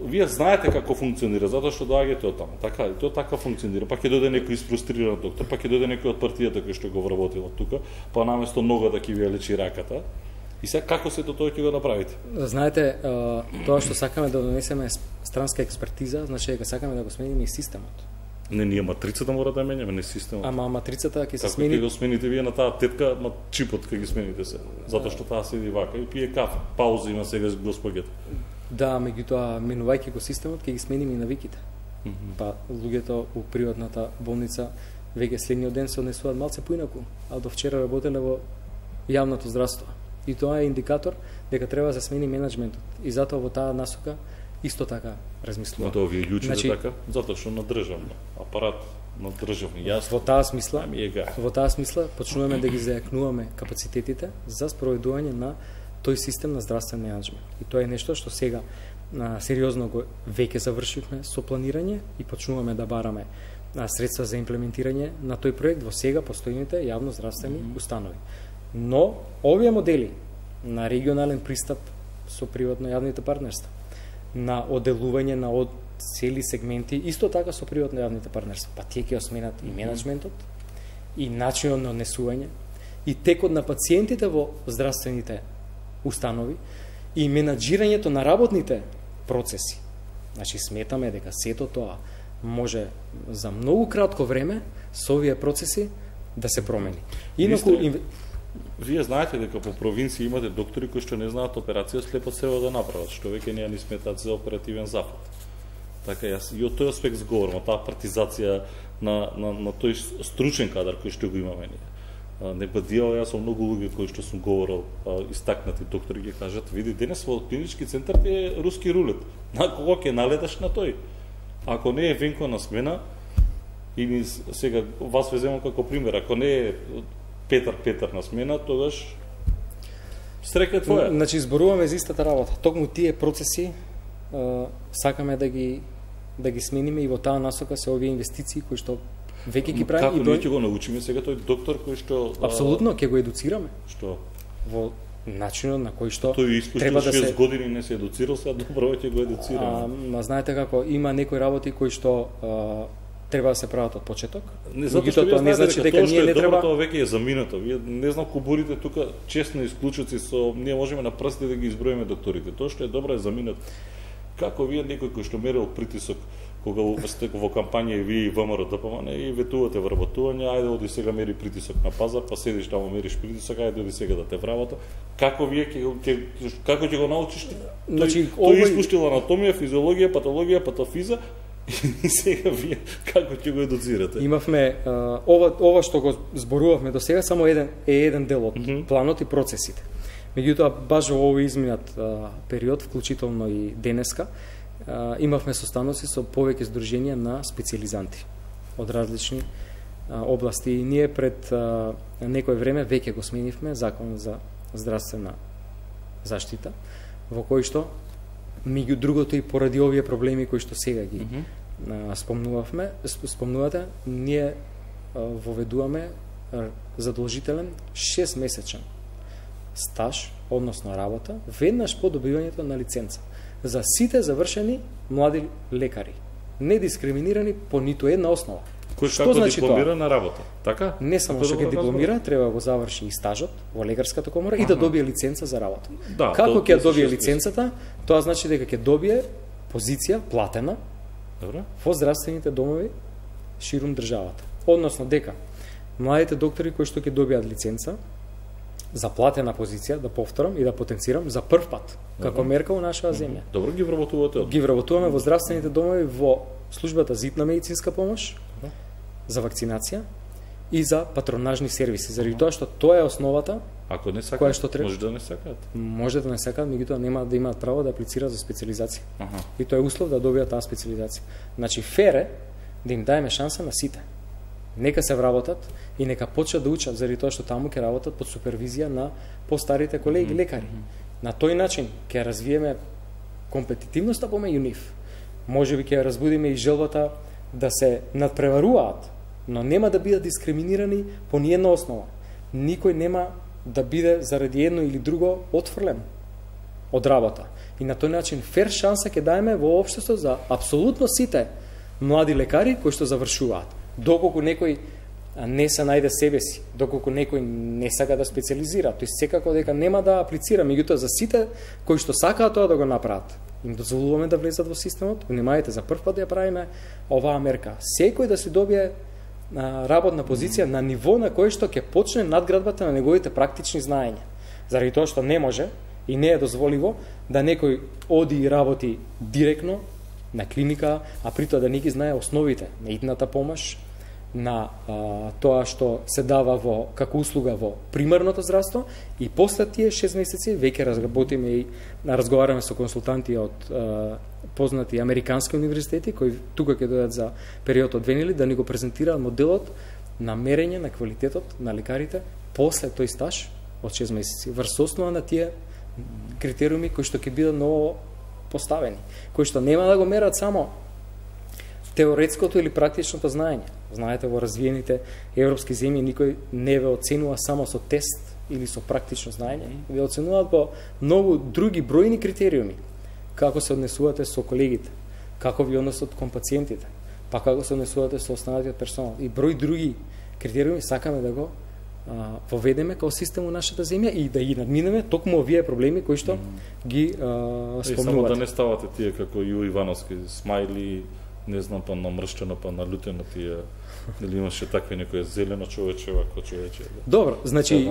вие знаете како функционира, затоа што доаѓате од таму. Така, тоа така функционира. Па ќе дојде некој испрустриран доктор, па ќе дојде некој од партијата кој што го вработил тука, па наместо ногата ќе ви ја лечи раката. И сега како се тоа ќе го направите? Знаете, тоа што сакаме да донесеме странска експертиза, значи дека сакаме да го смениме и системот. Не, ние матрицата мора да менјаме, не системот. Ама матрицата ќе се смени. Како ќе го смените вие на таа тетка, чипот ќе ги смените се, затоа што таа седи вака и пие кафе. Пауза има сега госпогето. Да, меѓутоа менувајќи го системот ќе ги смениме и навиките. Па луѓето у приватната болница веќе следниот ден се однесуваат малце поинаку, а до вчера работеле во јавното здравство. И тоа е индикатор дека треба да се смени менаџментот. И затоа во таа насока исто така размислувам. Тоа вие ључите така, затоа што на државно апарат, на државно јасно. Во таа смисла почнуваме да ги зајакнуваме капацитетите за спроведување на тој систем на здравствен менаџмент. И тоа е нешто што сега сериозно го веќе завршивме со планирање и почнуваме да бараме средства за имплементирање на тој проект во сега постојните јавно здравствени установи. Но овие модели на регионален пристап со приватно јавните партнерства, на оделување на цели сегменти, исто така со приватно јавните партнерства, па тие ќе осменат и менаџментот, и начинот на однесување, и текот на пациентите во здравствените установи, и менаџирањето на работните процеси. Значи, сметаме дека сето тоа може за многу кратко време со овие процеси да се промени. Инаку вие знаете дека по провинција имате доктори кои што не знаат операција слепо сево да направат, што веќе не ја ни сметаат за оперативен зафат. Така јас и од тој аспект зговорам, таа партизација на тој стручен кадар кој што го имаме ние. не бадијал, јас сум многу луѓе кои што сум говорил, истакнати доктори ги кажат, види, денес во клинички центар ти е руски рулет. На кого ќе налеташ на тој? Ако не е Венко на смена, или сега вас ве земам како пример, ако не е Петар на смена, тогаш среќа твоја. Значи зборуваме за истата работа. Токму тие процеси сакаме да ги смениме и во таа насока се овие инвестиции кои што веќе ги правиме. Како ние ќе го научиме сега тој доктор кој што апсолутно ќе го едуцираме. Што? Во начинот на кој што тој испустил 6 години не се едуцирал, сега добро ќе го едуцираме. Знаете како има некои работи кои што треба да се прават од почеток. Не затоа што тоа не значи дека ние не треба. Тоа веќе е заминато. Вие не знам кубурите тука честно исклучоци со ние можеме на прстите да ги изброиме докторите. Тоа што е добро е заминато. Како вие некој кој што мерил притисок кога сте во кампања и вие и ВМРО ДПМН и ветувате вработување, ајде оди сега мери притисок на пазар, па седиш таму мериш притисок, ајде оди сега да те вработа. Како вие како ќе го научиш? Значи тој испуштил анатомија, физиологија, патологија, патофиза и сега вие како ќе го едуцирате? Имавме ова што го зборувавме до сега само еден дел од планот и процесите. Меѓутоа баш во овој изминат период, вклучително и денеска, имавме состаноци со повеќе здруженија на специјализанти од различни области. И ние пред некој време веќе го сменивме Закон за здравствена заштита, во кој што меѓу другото и поради овие проблеми кои што сега ги спомнувате, ние воведуваме задолжителен 6-месечен стаж, односно работа, веднаш по добивањето на лиценца за сите завршени млади лекари, не дискриминирани по ниту една основа. Кој што значи дипломира тоа? На работа, така? Не само што ќе дипломира, треба да го заврши и стажот во лекарската комора и да добие лиценца за работа. Да, како ќе добие лиценцата? Тоа значи дека ќе добие позиција платена во здравствените домови ширум државата. Односно дека младите доктори кои што ќе добијат лиценца за платена позиција, да повторам и да потенцирам, за прв пат, како мерка во нашава земја. Добро ги вработувате? Ги вработуваме во здравствените домови, во службата за итна медицинска помош, за вакцинација и за патронажни сервиси, заради тоа што тоа е основата. Ако не сакаат, може да не сакаат. Може да не сакаат, меѓутоа нема да имаат право да аплицираат за специализација. И тоа е услов да добијат таа специализација. Значи фер е да им даеме шанса на сите. Нека се вработат и нека почнат да учат, заради тоа што таму ќе работат под супервизија на постарите колеги лекари. На тој начин ќе развиеме компетитивноста помеѓу нив. Можеби ќе разбудиме и желбата да се надпреваруваат, но нема да бидат дискриминирани по ниедна основа. Никој нема да биде заради едно или друго отфрлен од работа. И на тој начин фер шанса ќе даеме во општеството за апсолутно сите млади лекари кои што завршуваат. Доколку некој не се најде себе си, доколку некој не сака да специализира, тој секако дека нема да аплицира, меѓутоа за сите кои што сакаат тоа да го направат, им дозволуваме да влезат во системот. Внимавајте, за прв пат да ја правиме оваа мерка. Секој да си добие работна позиција на ниво на кој што ќе почне надградбата на неговите практични знаења. Заради тоа што не може и не е дозволиво да некој оди и работи директно на клиника, а при тоа да не ги знае основите на итната помош, на тоа што се дава во како услуга во примарното здравство, и после тие 6 месеци веќе разработиме и разговараме со консултанти од познати американски универзитети кои тука ќе дојдат за период од 2 недели да ни го презентираат моделот на мерење на квалитетот на лекарите после тој стаж од 6 месеци врз основа на тие критериуми кои што ќе бидат ново поставени, кои што нема да го мерат само теоретското или практичното знаење. Знаете, во развиените европски земји никој не ве оценува само со тест или со практично знаење. Ве оценуваат по многу други бројни критериуми. Како се однесувате со колегите, како ви односат кон пациентите, па како се однесувате со останатиот персонал и број други критериуми сакаме да го воведеме као систем во нашата земја и да ги надминеме токму овие проблеми кои што ги спомнувате. Само да не ставате тие како Ју Ивановски, смајли, не знам, па намрштено, па налутено тие, или имаше такви некој зелено човече, вако човече. Добро, значи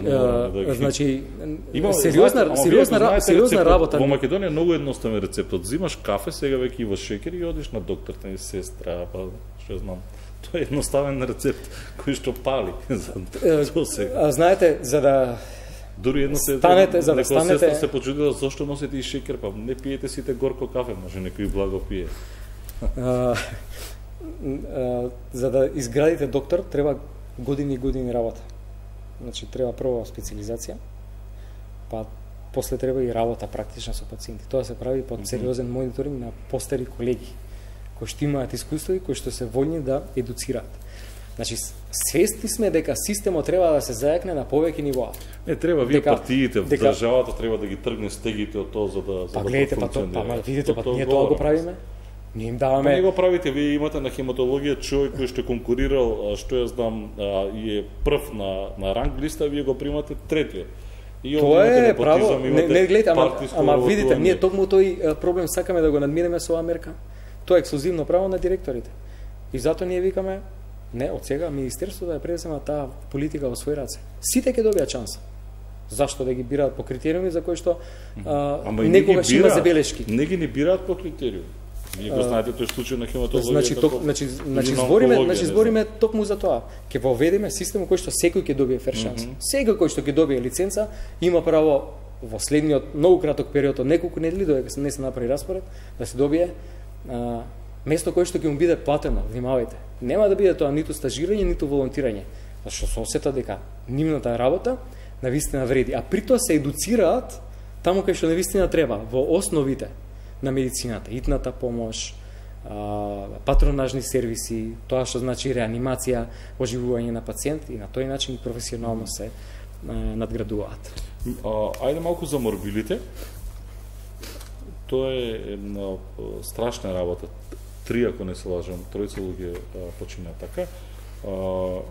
сериозна работа. Во Македонија многу едноставен рецептот. Зимаш кафе, сега веќе има шекер и одиш на докторта и сестра, па што знам, Тоа е едноставен рецепт кој што пали за сега. Знаете, за да дури едно се станете, за да станете станете се почудила зошто носите и шекер, па не пиете сите горко кафе, може некој благо пие. За да изградите доктор треба години и години работа. Значи треба прво специализација, па после треба и работа практична со пациенти. Тоа се прави под сериозен мониторинг на постари колеги кои што имаат искуство и кои што се вољни да едуцираат. Значи, свесни сме дека системот треба да се зајакне на повеќе нивоа. Не треба вие партиите в државата треба да ги тргне стегите од тоа за да гледате, па видите, ние тоа го правиме. Ние им даваме. Па не го правите, вие имате на хематологија човек кој што конкурирал, што ја знам, и е прв на ранг листа, вие го примате третиот. И тоа е право, не гледате, ама видите, ние токму тој проблем сакаме да го надминеме со Америка. Тоа е ексклузивно право на директорите. И затоа ние викаме, не, од сега министерството да ја пренесеме таа политика во своји раце. Сите ќе добијат шанса. Зашто да ги бираат по критериуми за кои што некогаш има забелешки? Не ги не бираат по критериуми. Вие го знаете тој случај на хематологија. Значи збориме токму за тоа. Ќе воведеме систем кој што секој ќе добие фер шанс. Секој кој што ќе добие лиценца има право во следниот многу краток период од неколку недели додека не се направи распоред да се добие место кое што ќе му биде платено. Внимавајте. Нема да биде тоа ниту стажирање, ниту волонтирање. Зашто се осета дека нивната работа навистина вреди, а при тоа се едуцираат таму кај што навистина треба, во основите на медицината, итната помош, патронажни сервиси, тоа што значи реанимација, оживување на пациент и на тој начин професионално се надградуваат. Ајде малку за морбилите. Тоа е една страшна работа. 3, ако не се лажам, 3 луѓе почина така.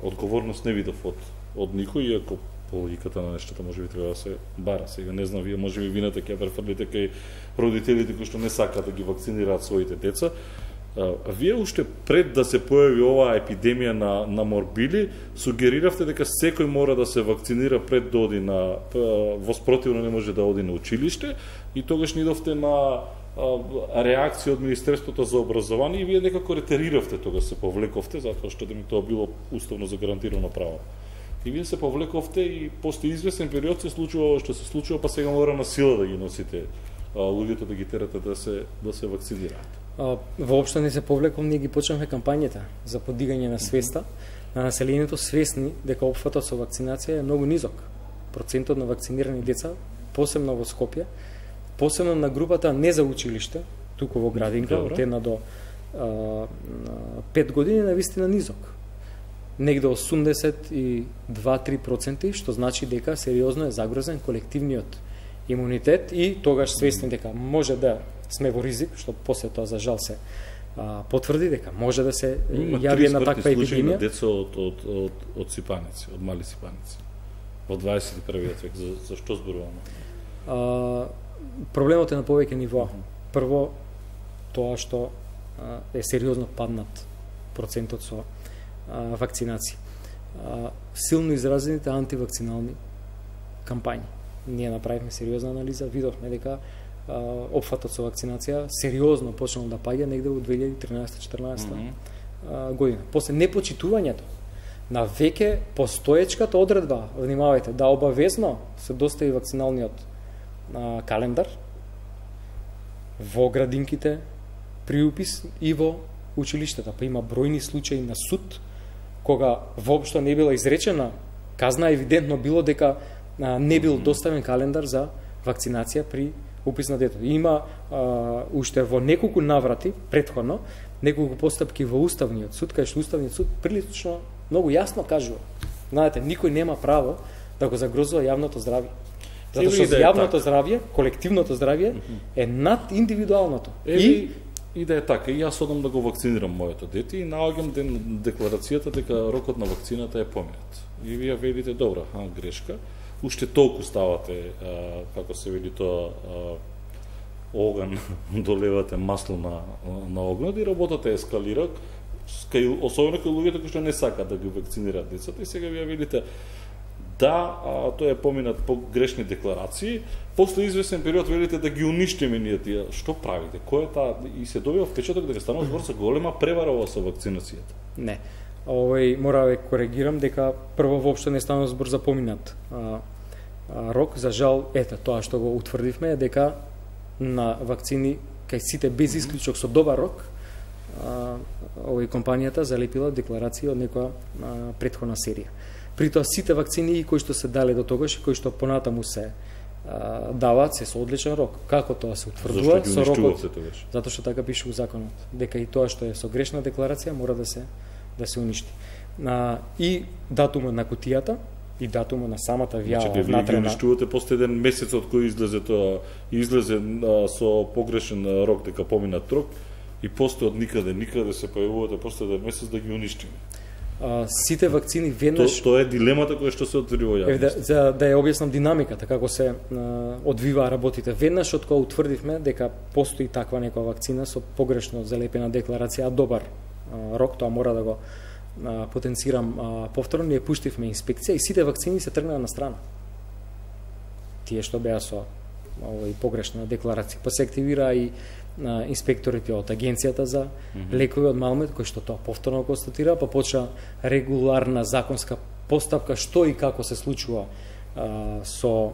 Одговорност не видов од никој, иако по логиката на нештата може би треба да се бара. Сега не знам, вие може би вината ќе префрлите кај родителите кои што не сакаат да ги вакцинираат своите деца. Вие уште пред да се појави оваа епидемија на морбили, сугериравте дека секој мора да се вакцинира пред да оди на во спротивно не може да оди на училиште, и тогаш нидовте на реакција од Министерството за образование и вие некако ретериравте, тогаш се повлековте затоа што да ми тоа било уставно загарантирано право. И вие се повлековте и после известен период се случува што се случува, па сега мора на сила да ги носите луѓето, да ги терате да се вакцинираат. Воопшто не се повлеком, ние ги почнавме кампањата за подигање на свеста на населението, свесни дека опфатот со вакцинација е многу низок. Процентот на вакцинирани деца, посебно во Скопје, посебно на групата не за училиште, туку во градинка, од 1 до 5 години, навистина низок. Негде 82-3%, што значи дека сериозно е загрозен колективниот имунитет и тогаш свесни дека може да сме во ризик, што после тоа за жал се потврди дека може да се јави една таква епидемија. Има деца од сипаници, од мали сипаници во 21 век. За што зборуваме? Проблемот е на повеќе нивоа. Прво, тоа што е сериозно паднат процентот со вакцинација. Силно изразените антивакцинални кампањи. Ние направивме сериозна анализа, видовме дека опфатот со вакцинација сериозно почнал да паѓа негде во 2013-14 година. После непочитувањето на веќе постоечката одредба, внимавајте, да обавезно се достави вакциналниот календар во градинките при упис и во училиштата. Па има бројни случаи на суд кога воопшто не била изречена казна, евидентно било дека не бил доставен календар за вакцинација при упис на детето. Има уште во неколку наврати претходно неколку постапки во Уставниот суд, кај што Уставниот суд прилично многу јасно кажува. Знаете, никој нема право да го загрозува јавното здравје. Затоа што јавното здравје, колективното здравје е над индивидуалното. И да е така, и јас одам да го вакцинирам моето дете и наоѓам декларацијата дека рокот на вакцината е поминат. И вие велите, добра, грешка, уште толку ставате, како се вели тоа, оган, долевате масло на огнот и работата ескалира, особено кај луѓето кои што не сакаат да ги вакцинираат децата, и сега вие велите, да, тоа е поминат по грешни декларации, после известен период велите да ги уништиме ние тие. Што правите? Кој е таа? И се добива впечаток дека станува збор за голема превара со вакцинацијата. Не. мора да коригирам дека прво воопшто не станува збор за поминат рок. За жал, тоа што го утврдивме е дека на вакцини кај сите без исклучок со добар рок, компанијата залепила декларација од некоја претходна серија. При тоа сите вакцини кои што се дале до тогаш и кои што понатаму се даваат се со одличен рок. Како тоа се утврдува со рокот? Затоа што така пише во законот, дека и тоа што е со грешна декларација мора да се уништи. И датумот на кутијата и датумот на самата вјава внатре. Вие ги уништувате после еден месец од кој излезе тоа, излезе со погрешен рок дека поминат рок, и после од никаде се појавувате после еден месец да ги уништиме. Сите вакцини веднаш... Тоа е дилемата која што се отвори во јавност. За да ја објаснам динамиката, како се одвива работите. Веднаш од кога утврдивме дека постои таква некоја вакцина со погрешно залепена декларација, добар рок, тоа мора да го потенцирам повторно, ние пуштивме инспекција и сите вакцини се тргнаа на страна. Тие што беа со погрешна декларација. Па се активира и инспекторите од Агенцијата за лекови од Малмет, кој што тоа повторно констатира, па почна регуларна законска постапка што и како се случува со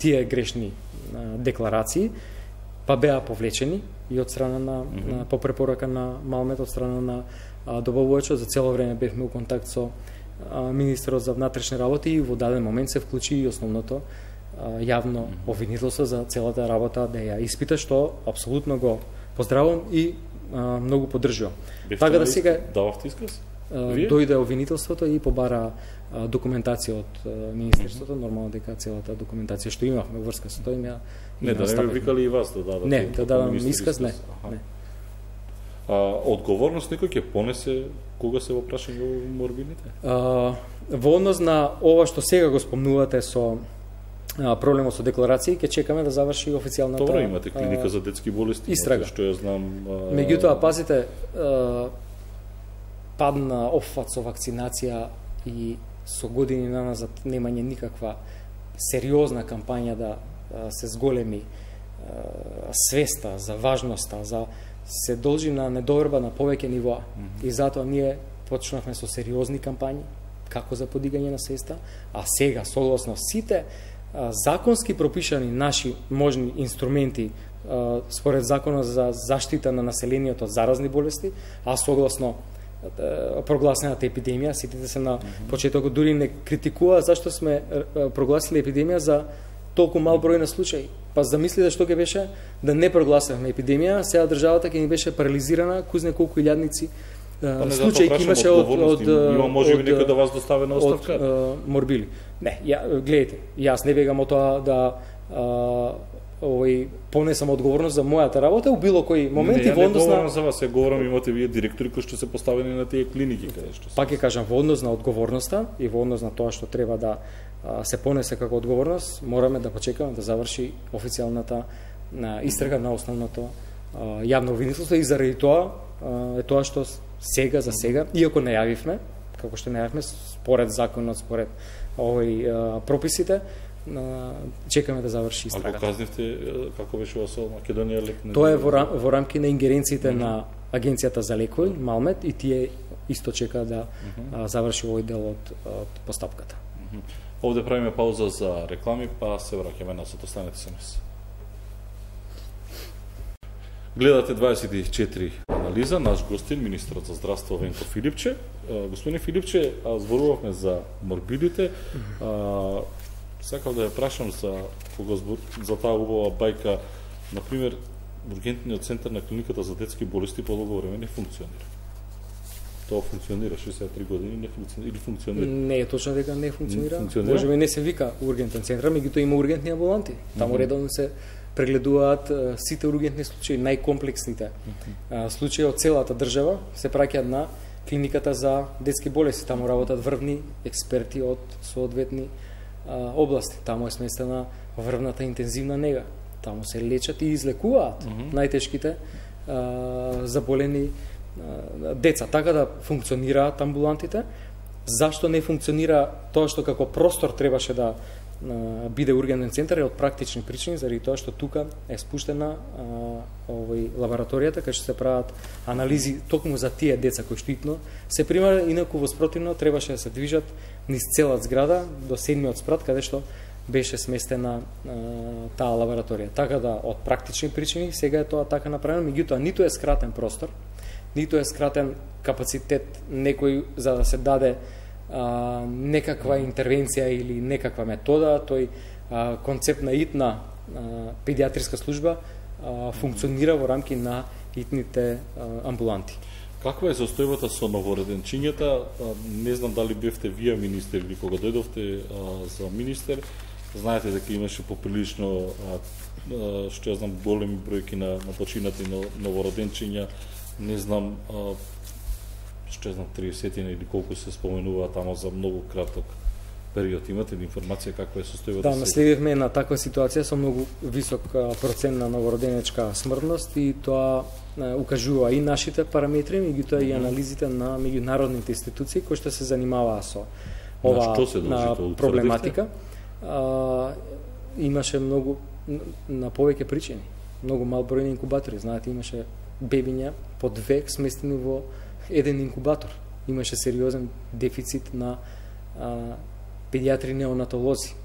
тие грешни декларации, па беа повлечени и од страна на по препорака на Малмет, од страна на добавувачот. За цело време бевме во контакт со министерот за внатрешни работи и во даден момент се вклучи и основното јавно обвинителство за целата работа да ја испита, што апсолутно го поздравувам и многу поддржувам. Така да сега дававте исказ? Дојде обвинителството и побара документација од министерството, нормално дека целата документација што имавме врска со тоа ја не да не викали и вас да дадете. Не, да дадам исказ, не. Одговорност некој ќе понесе кога се во прашање во морбидите? Во однос на ова што сега го спомнувате со проблемот со декларации, ќе чекаме да заврши официјалната Добро, имате клиника за детски болести, истрага. Што ја знам. Меѓутоа, пазите, падна опфат со вакцинација и со години наназад немање никаква сериозна кампања да се зголеми свеста за важноста, за се должи на недоверба на повеќе нивоа. И затоа ние почнавме со сериозни кампањи како за подигање на свеста, а сега согласно сите законски пропишани наши можни инструменти според Законот за заштита на населението од заразни болести, а согласно прогласената епидемија, сетите се на почетокот, дури не критикува зашто сме прогласили епидемија за толку мал број на случаи. Па замислите што ќе беше да не прогласевме епидемија, сега државата ќе ни беше парализирана, кузне колку илјадници случаи имаше од има можеби некој да вас достави на оставка морбили. Не, гледайте, јас не бегам од тоа да понесам одговорност за мојата работа у било кој момент и во однос на... Не, за вас, говорам, имате вие директори кои што се поставени на тие клиники каде што се. Пак ќе кажам, во однос на одговорноста и во однос на тоа што треба да се понесе како одговорност, мораме да почекаме да заврши официјалната истрага на основното јавно обвинителство и заради тоа е тоа што сега за сега, иако најавивме, како што најавивме според законот, според прописите, чекаме да заврши истрагата. Ако казнивте, како беше во Македонија лек? Тоа е во рамки на ингеренциите на Агенцијата за лекови, Малмет, и тие исто чека да заврши овој дел од постапката. Овде правиме пауза за реклами, па се враќаме назад. Останете со нас. Гледате 24 анализа, наш гостин, министерот за здравство Венко Филипче. Господин Филипче, зборувавме за морбидите. Сакав да ја прашам за таа убава бајка, например, ургентниот центар на клиниката за детски болести подолго време не функционира. Тоа функционира 63 години, не функционира или функционира? Не е точно дека не функционира. Можеби не се вика ургентен центар, меѓутоа има ургентни амбуланти. Таму редовно се прегледуваат сите ургентни случаи, најкомплексните случаи од целата држава се праќаат на клиниката за детски болести. Таму работат врвни експерти од соодветни области. Таму е сместена врвната интензивна нега. Таму се лечат и излекуваат најтешките заболени деца. Така да функционираат амбулантите. Зашто не функционира тоа што како простор требаше да биде ургентен центар е од практични причини, заради тоа што тука е спуштена лабораторијата кај што се прават анализи токму за тие деца кои штитно се примаат, инаку во спротивно требаше да се движат низ целата зграда до 7-миот спрат каде што беше сместена таа лабораторија. Така да од практични причини сега е тоа така направено, меѓутоа ниту е скратен простор, ниту е скратен капацитет некој за да се даде некаква интервенција или некаква метода. Тој концепт на итна педиатриска служба функционира во рамки на итните амбуланти. Каква е состојбата со новороденчињата? Не знам дали бевте вие министер или кога дојдовте за министер. Знаете дека имаше поприлично, што ја знам, големи бројки на починати новороденчиња. Не знам, што ја знам, 30 или колку се споменува тамо за многу краток период. Имате ли информација каква е состојбата? Да, наследивме на таква ситуација со многу висок процент на новороденечка смртност и тоа укажува и нашите параметри, меѓутоа и анализите на меѓународните институции кои што се занимаваа со ова проблематика. Имаше многу на повеќе причини. Многу мал број на инкубатори. Знаете, имаше бебиња под век сместени во еден инкубатор. Имаше сериозен дефицит на педиатри неонатолози.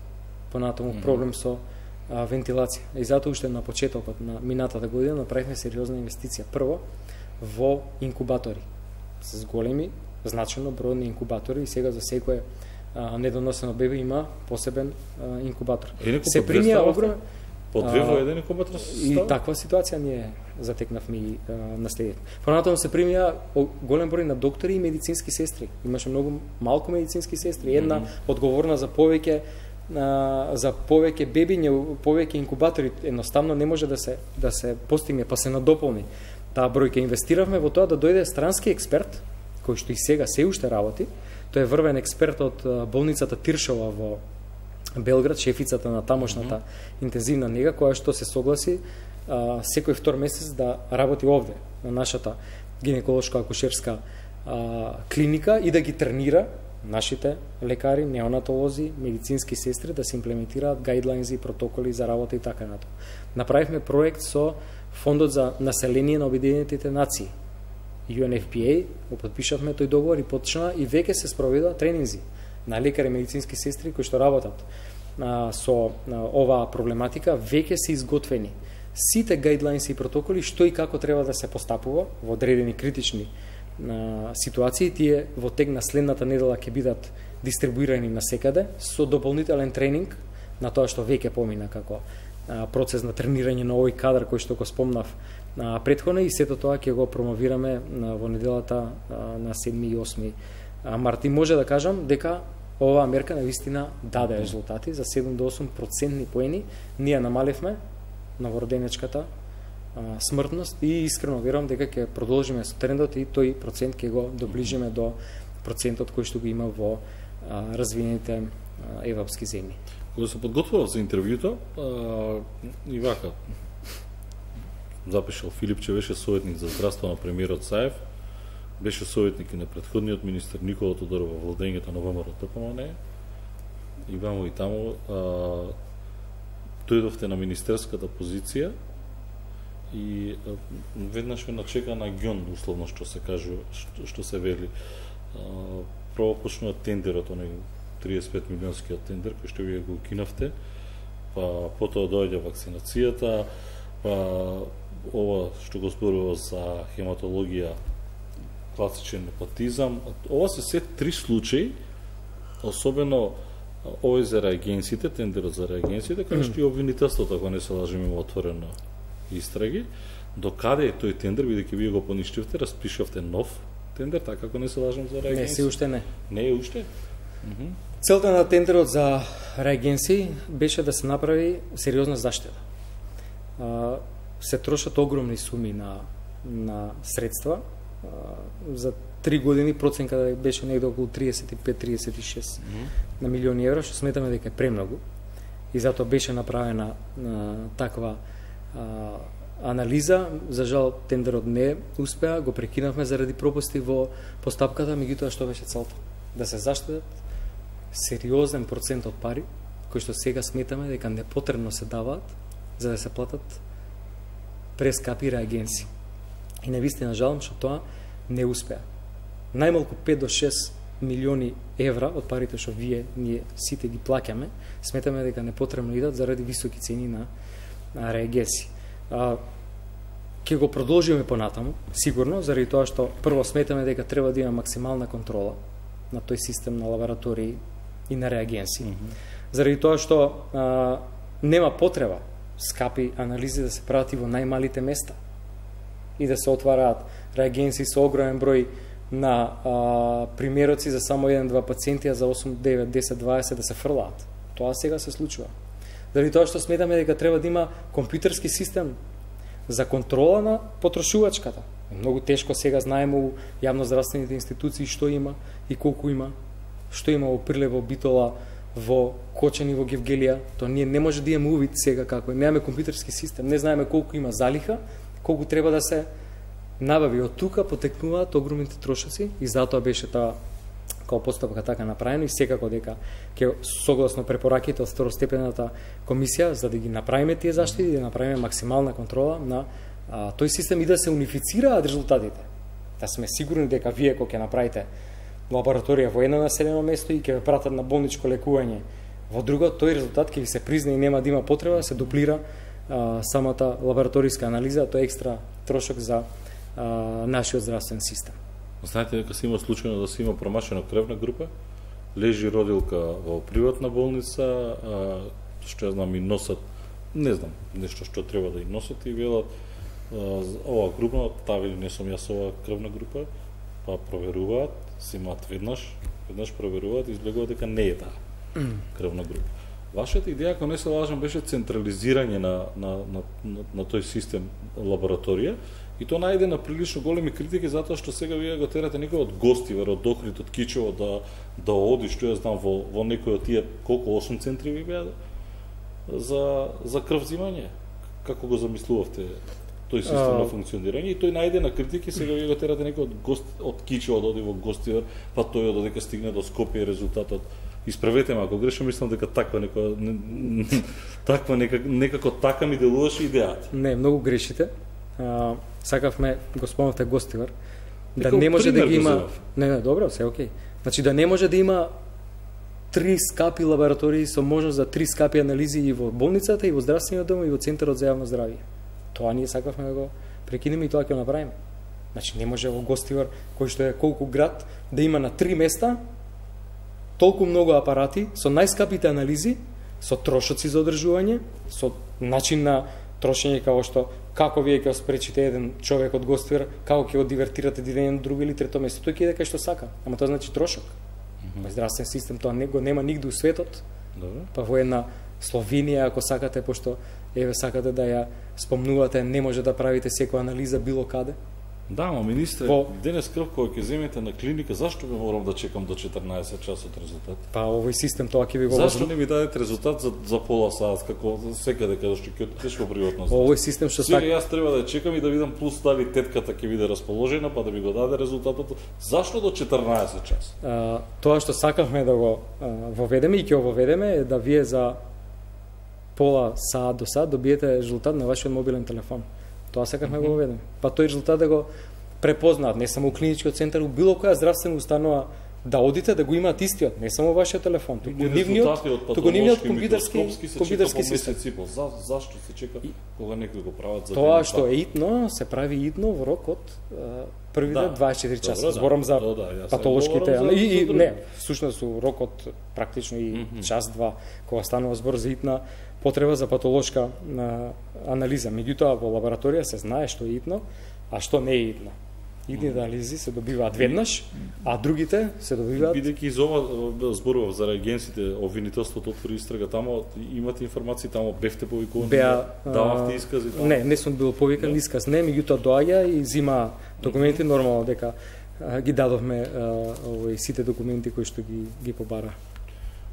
Понатаму проблем со вентилација. И затоа уште на почетокот на минатата година направивме сериозна инвестиција. Прво во инкубатори с големи, значено бројни инкубатори и сега за секое недоносено бебе има посебен инкубатор. Се примија огромен по две во еден инкубатор и таква ситуација ние затекнавме и наследивме. Понатаму се примија голем број на доктори и медицински сестри. Имаше многу малку медицински сестри, една одговорна за повеќе бебиња, повеќе инкубатори, едноставно не може да се постигне, па се надополни таа бројка. Инвестиравме во тоа да дојде странски експерт, кој што и сега се уште работи. Тој е врвен експерт од болницата Тиршова во Белград, шефицата на тамошната интензивна нега, која што се согласи секој втор месец да работи овде, на нашата гинеколошка акушерска клиника и да ги тренира нашите лекари, неонатолози, медицински сестри да се имплементираат гајдлайнзи и протоколи за работа и така натаму. Направивме проект со Фондот за население на Обединетите нации, UNFPA, го подпишавме тој договор и почна и веќе се спроведува тренинзи на лекари и медицински сестри кои што работат со оваа проблематика. Веќе се изготвени сите гајдлайнси и протоколи што и како треба да се постапува во одредени критични ситуации. Тие во тек на следната недела ќе бидат дистрибуирани на секаде со дополнителен тренинг на тоа што веќе помина како процес на тренирање на овој кадар кој што го спомнав претходно, и сето тоа ќе го промовираме во неделата на 7 и 8 март. И може да кажам дека оваа мерка навистина даде резултати. За 7 до 8% поени ние намаливме новороденечката смртност и искрено верувам дека ќе продолжиме со трендот и тој процент ќе го доближиме до процентот кој што го има во развиените европски земји. Кога се подготвував за интервјуто, и вака запишал Филипче, беше советник за здравство на премиерот Саев, беше советник и на претходниот министер Никола Тодоров во владењето на ВМРО-ДПМН, и вамо и таму дојдовте на министерската позиција и веднаш ме начека на ѓон, условно што се кажува, што се вели. Прво почнува тендерот, оној 35 милионскиот тендер кој што вие го укинавте, па потоа доаѓа вакцинацијата, па ова што го зборува за хематологија, класичен непотизам. Ова се се три случаи, особено овој за реагенсите, тендерот за реагенсите, кај што и обвинителството, ако не се лажем, има отворено истраги. До каде е тој тендер, бидејќи вие го поништивте, распишавте нов тендер, така ако не се лажем за реагенси? Не, се уште не. Не е уште? Целта на тендерот за реагенси беше да се направи сериозна заштеда. Се трошат огромни суми на средства. За 3 години проценка беше негде околу 35-36 на милиони евро, што сметаме дека е премногу. И затоа беше направена таква анализа. За жал тендерот не успеа, го прекинавме заради пропусти во постапката, меѓутоа што беше целта? Да се заштедат сериозен процент од пари кои што сега сметаме дека непотребно се даваат за да се платат прескапи реагенси. И навистина жалам што тоа не успеа. Најмалку 5 до 6 милиони евра од парите што ние сите ги плаќаме, сметаме дека непотребно идат заради високи цени на реагенси. Ќе го продолжиме понатаму, сигурно, заради тоа што прво сметаме дека треба да има максимална контрола на тој систем на лаборатории и на реагенси. Заради тоа што нема потреба скапи анализи да се прават и во најмалите места и да се отвараат реагенси со огромен број на примероци за само 1-2 пациенти, а за 8, 9, 10, 20 да се фрлаат. Тоа сега се случува. Заради тоа што сметаме дека треба да има компјутерски систем за контрола на потрошувачката. Многу тешко сега знаеме у јавноздравствените институции што има и колку има, што има во Прилеп, во Битола, во Кочани, во Гевгелија. Тоа ние не може да имаме увид сега како е. Немаме компјутерски систем, не знаеме колку има залиха, колку треба да се набави. Од тука потекнуваат огромните трошоци и затоа беше таа како постапка така направено и секако дека ќе согласно препораките од второстепената комисија за да ги направиме тие заштити, да направиме максимална контрола на тој систем и да се унифицираат резултатите. Да сме сигурни дека вие кога ќе направите лабораторија во едно населено место и ќе ве пратат на болничко лекување во друго, тој резултат ќе ви се призна и нема да има потреба да се дуплира самата лабораториска анализа, тоа е екстра трошок за нашиот здравствен систем. Знаете дека се има случајно да се има промашена крвна група, лежи родилка во приватна болница, што ја знам и носат, не знам, нешто што треба да и носат и велат ова група, таа вели не сум јас ова крвна група, па проверуваат, се имаат веднаш проверуваат и излегува дека не е таа крвна група. Вашата идеја, ако не се лажам, беше централизирање на тој систем лабораторија и тоа најде на прилично големи критики затоа што сега вие го терате некој од Гостивар, од Охрид, од Кичево да оди, што ја знам, во некој од тие колку 8 центри ви беа за крв взимање. Како го замислувавте тој систем на функционирање и тој најде на критики, сега вие го терате некој од Кичево да оди во Гостивар, па тој додека стигне до Скопје резултатот. Исправете ме ако грешам, мислам дека некако така ми делуваше идејата. Не, многу грешите. Сакавме, го спомнавте Гостивар, да не може да ги има... Не, добро, се окей. Значи да не може да има 3 скапи лаборатории со можност за 3 скапи анализи и во болницата, и во здравствениот дом, и во Центарот за јавно здравје. Тоа ние сакавме да го прекинеме и тоа ќе го направиме. Значи не може во Гостивар, кој што е колку град, да има на 3 места толку многу апарати со најскапите анализи, со трошоци за одржување, со начин на трошење како вие ќе спречите еден човек од Гостивар, како ќе го дивертирате еден друго или трето место, тој ќе иде кај што сака. Ама тоа значи трошок. Во здравствен систем тоа го нема нигде у светот. Па во една Словенија, ако сакате, пошто еве сакате да ја спомнувате, не може да правите секоја анализа било каде. Да, ама министре, денес крв кој ќе земете на клиника, зашто би морам да чекам до 14 часот резултат? Па овој систем тоа ќе ви го Зашто не ми дадете резултат за пола сат, како секаде каде што ќе отидеш во приватно здравство? Овој систем што сега јас треба да чекам и да видам плюс дали тетката ќе биде расположена, па да ми го даде резултатот. Зашто до 14 часа? Тоа што сакавме да го воведеме и ќе го воведеме е да вие за пола сат до сат добиете резултат на вашиот мобилен телефон. Тоа сакавме го воведеме. Па тој резултат да го препознаат не само у клиничкиот центар, у било која здравствена установа да одите да го имаат истиот, не само вашиот телефон, туку нивниот компјутерски систем. Зашто се чека кога некои го прават за тоа што е итно, се прави итно во рок од првите 24 часа. Зборам за патолошките и не, всушност у рок од практично и час-два кога станува збор за итна потреба за патолошка анализа. Меѓутоа во лабораторија се знае што е итно, а што не е итно. Идни анализи се добиваат веднаш, а другите се добиваат... Бидејќи из ова зборував за реагенсите, обвинителството отвори истрага, тамо имате информации, тамо бевте повикувани, дававте искази? Не сум бил повикан исказ, не, меѓутоа доаѓа и зима документи, нормално дека ги дадовме сите документи кои што ги побара.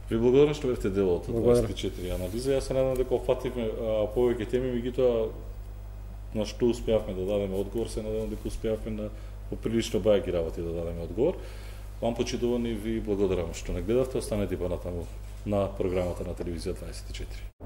Ви благодарам што бевте дел од 24 анализа. Јас се надам дека опфативме повеќе теми, меѓутоа на што успеавме да дадеме одговор, се надевам дека успеавме на поприлично бајаки работи да дадеме одговор. Вам почитувани ви благодарам што не гледавте, останете понатаму на програмата на телевизија 24.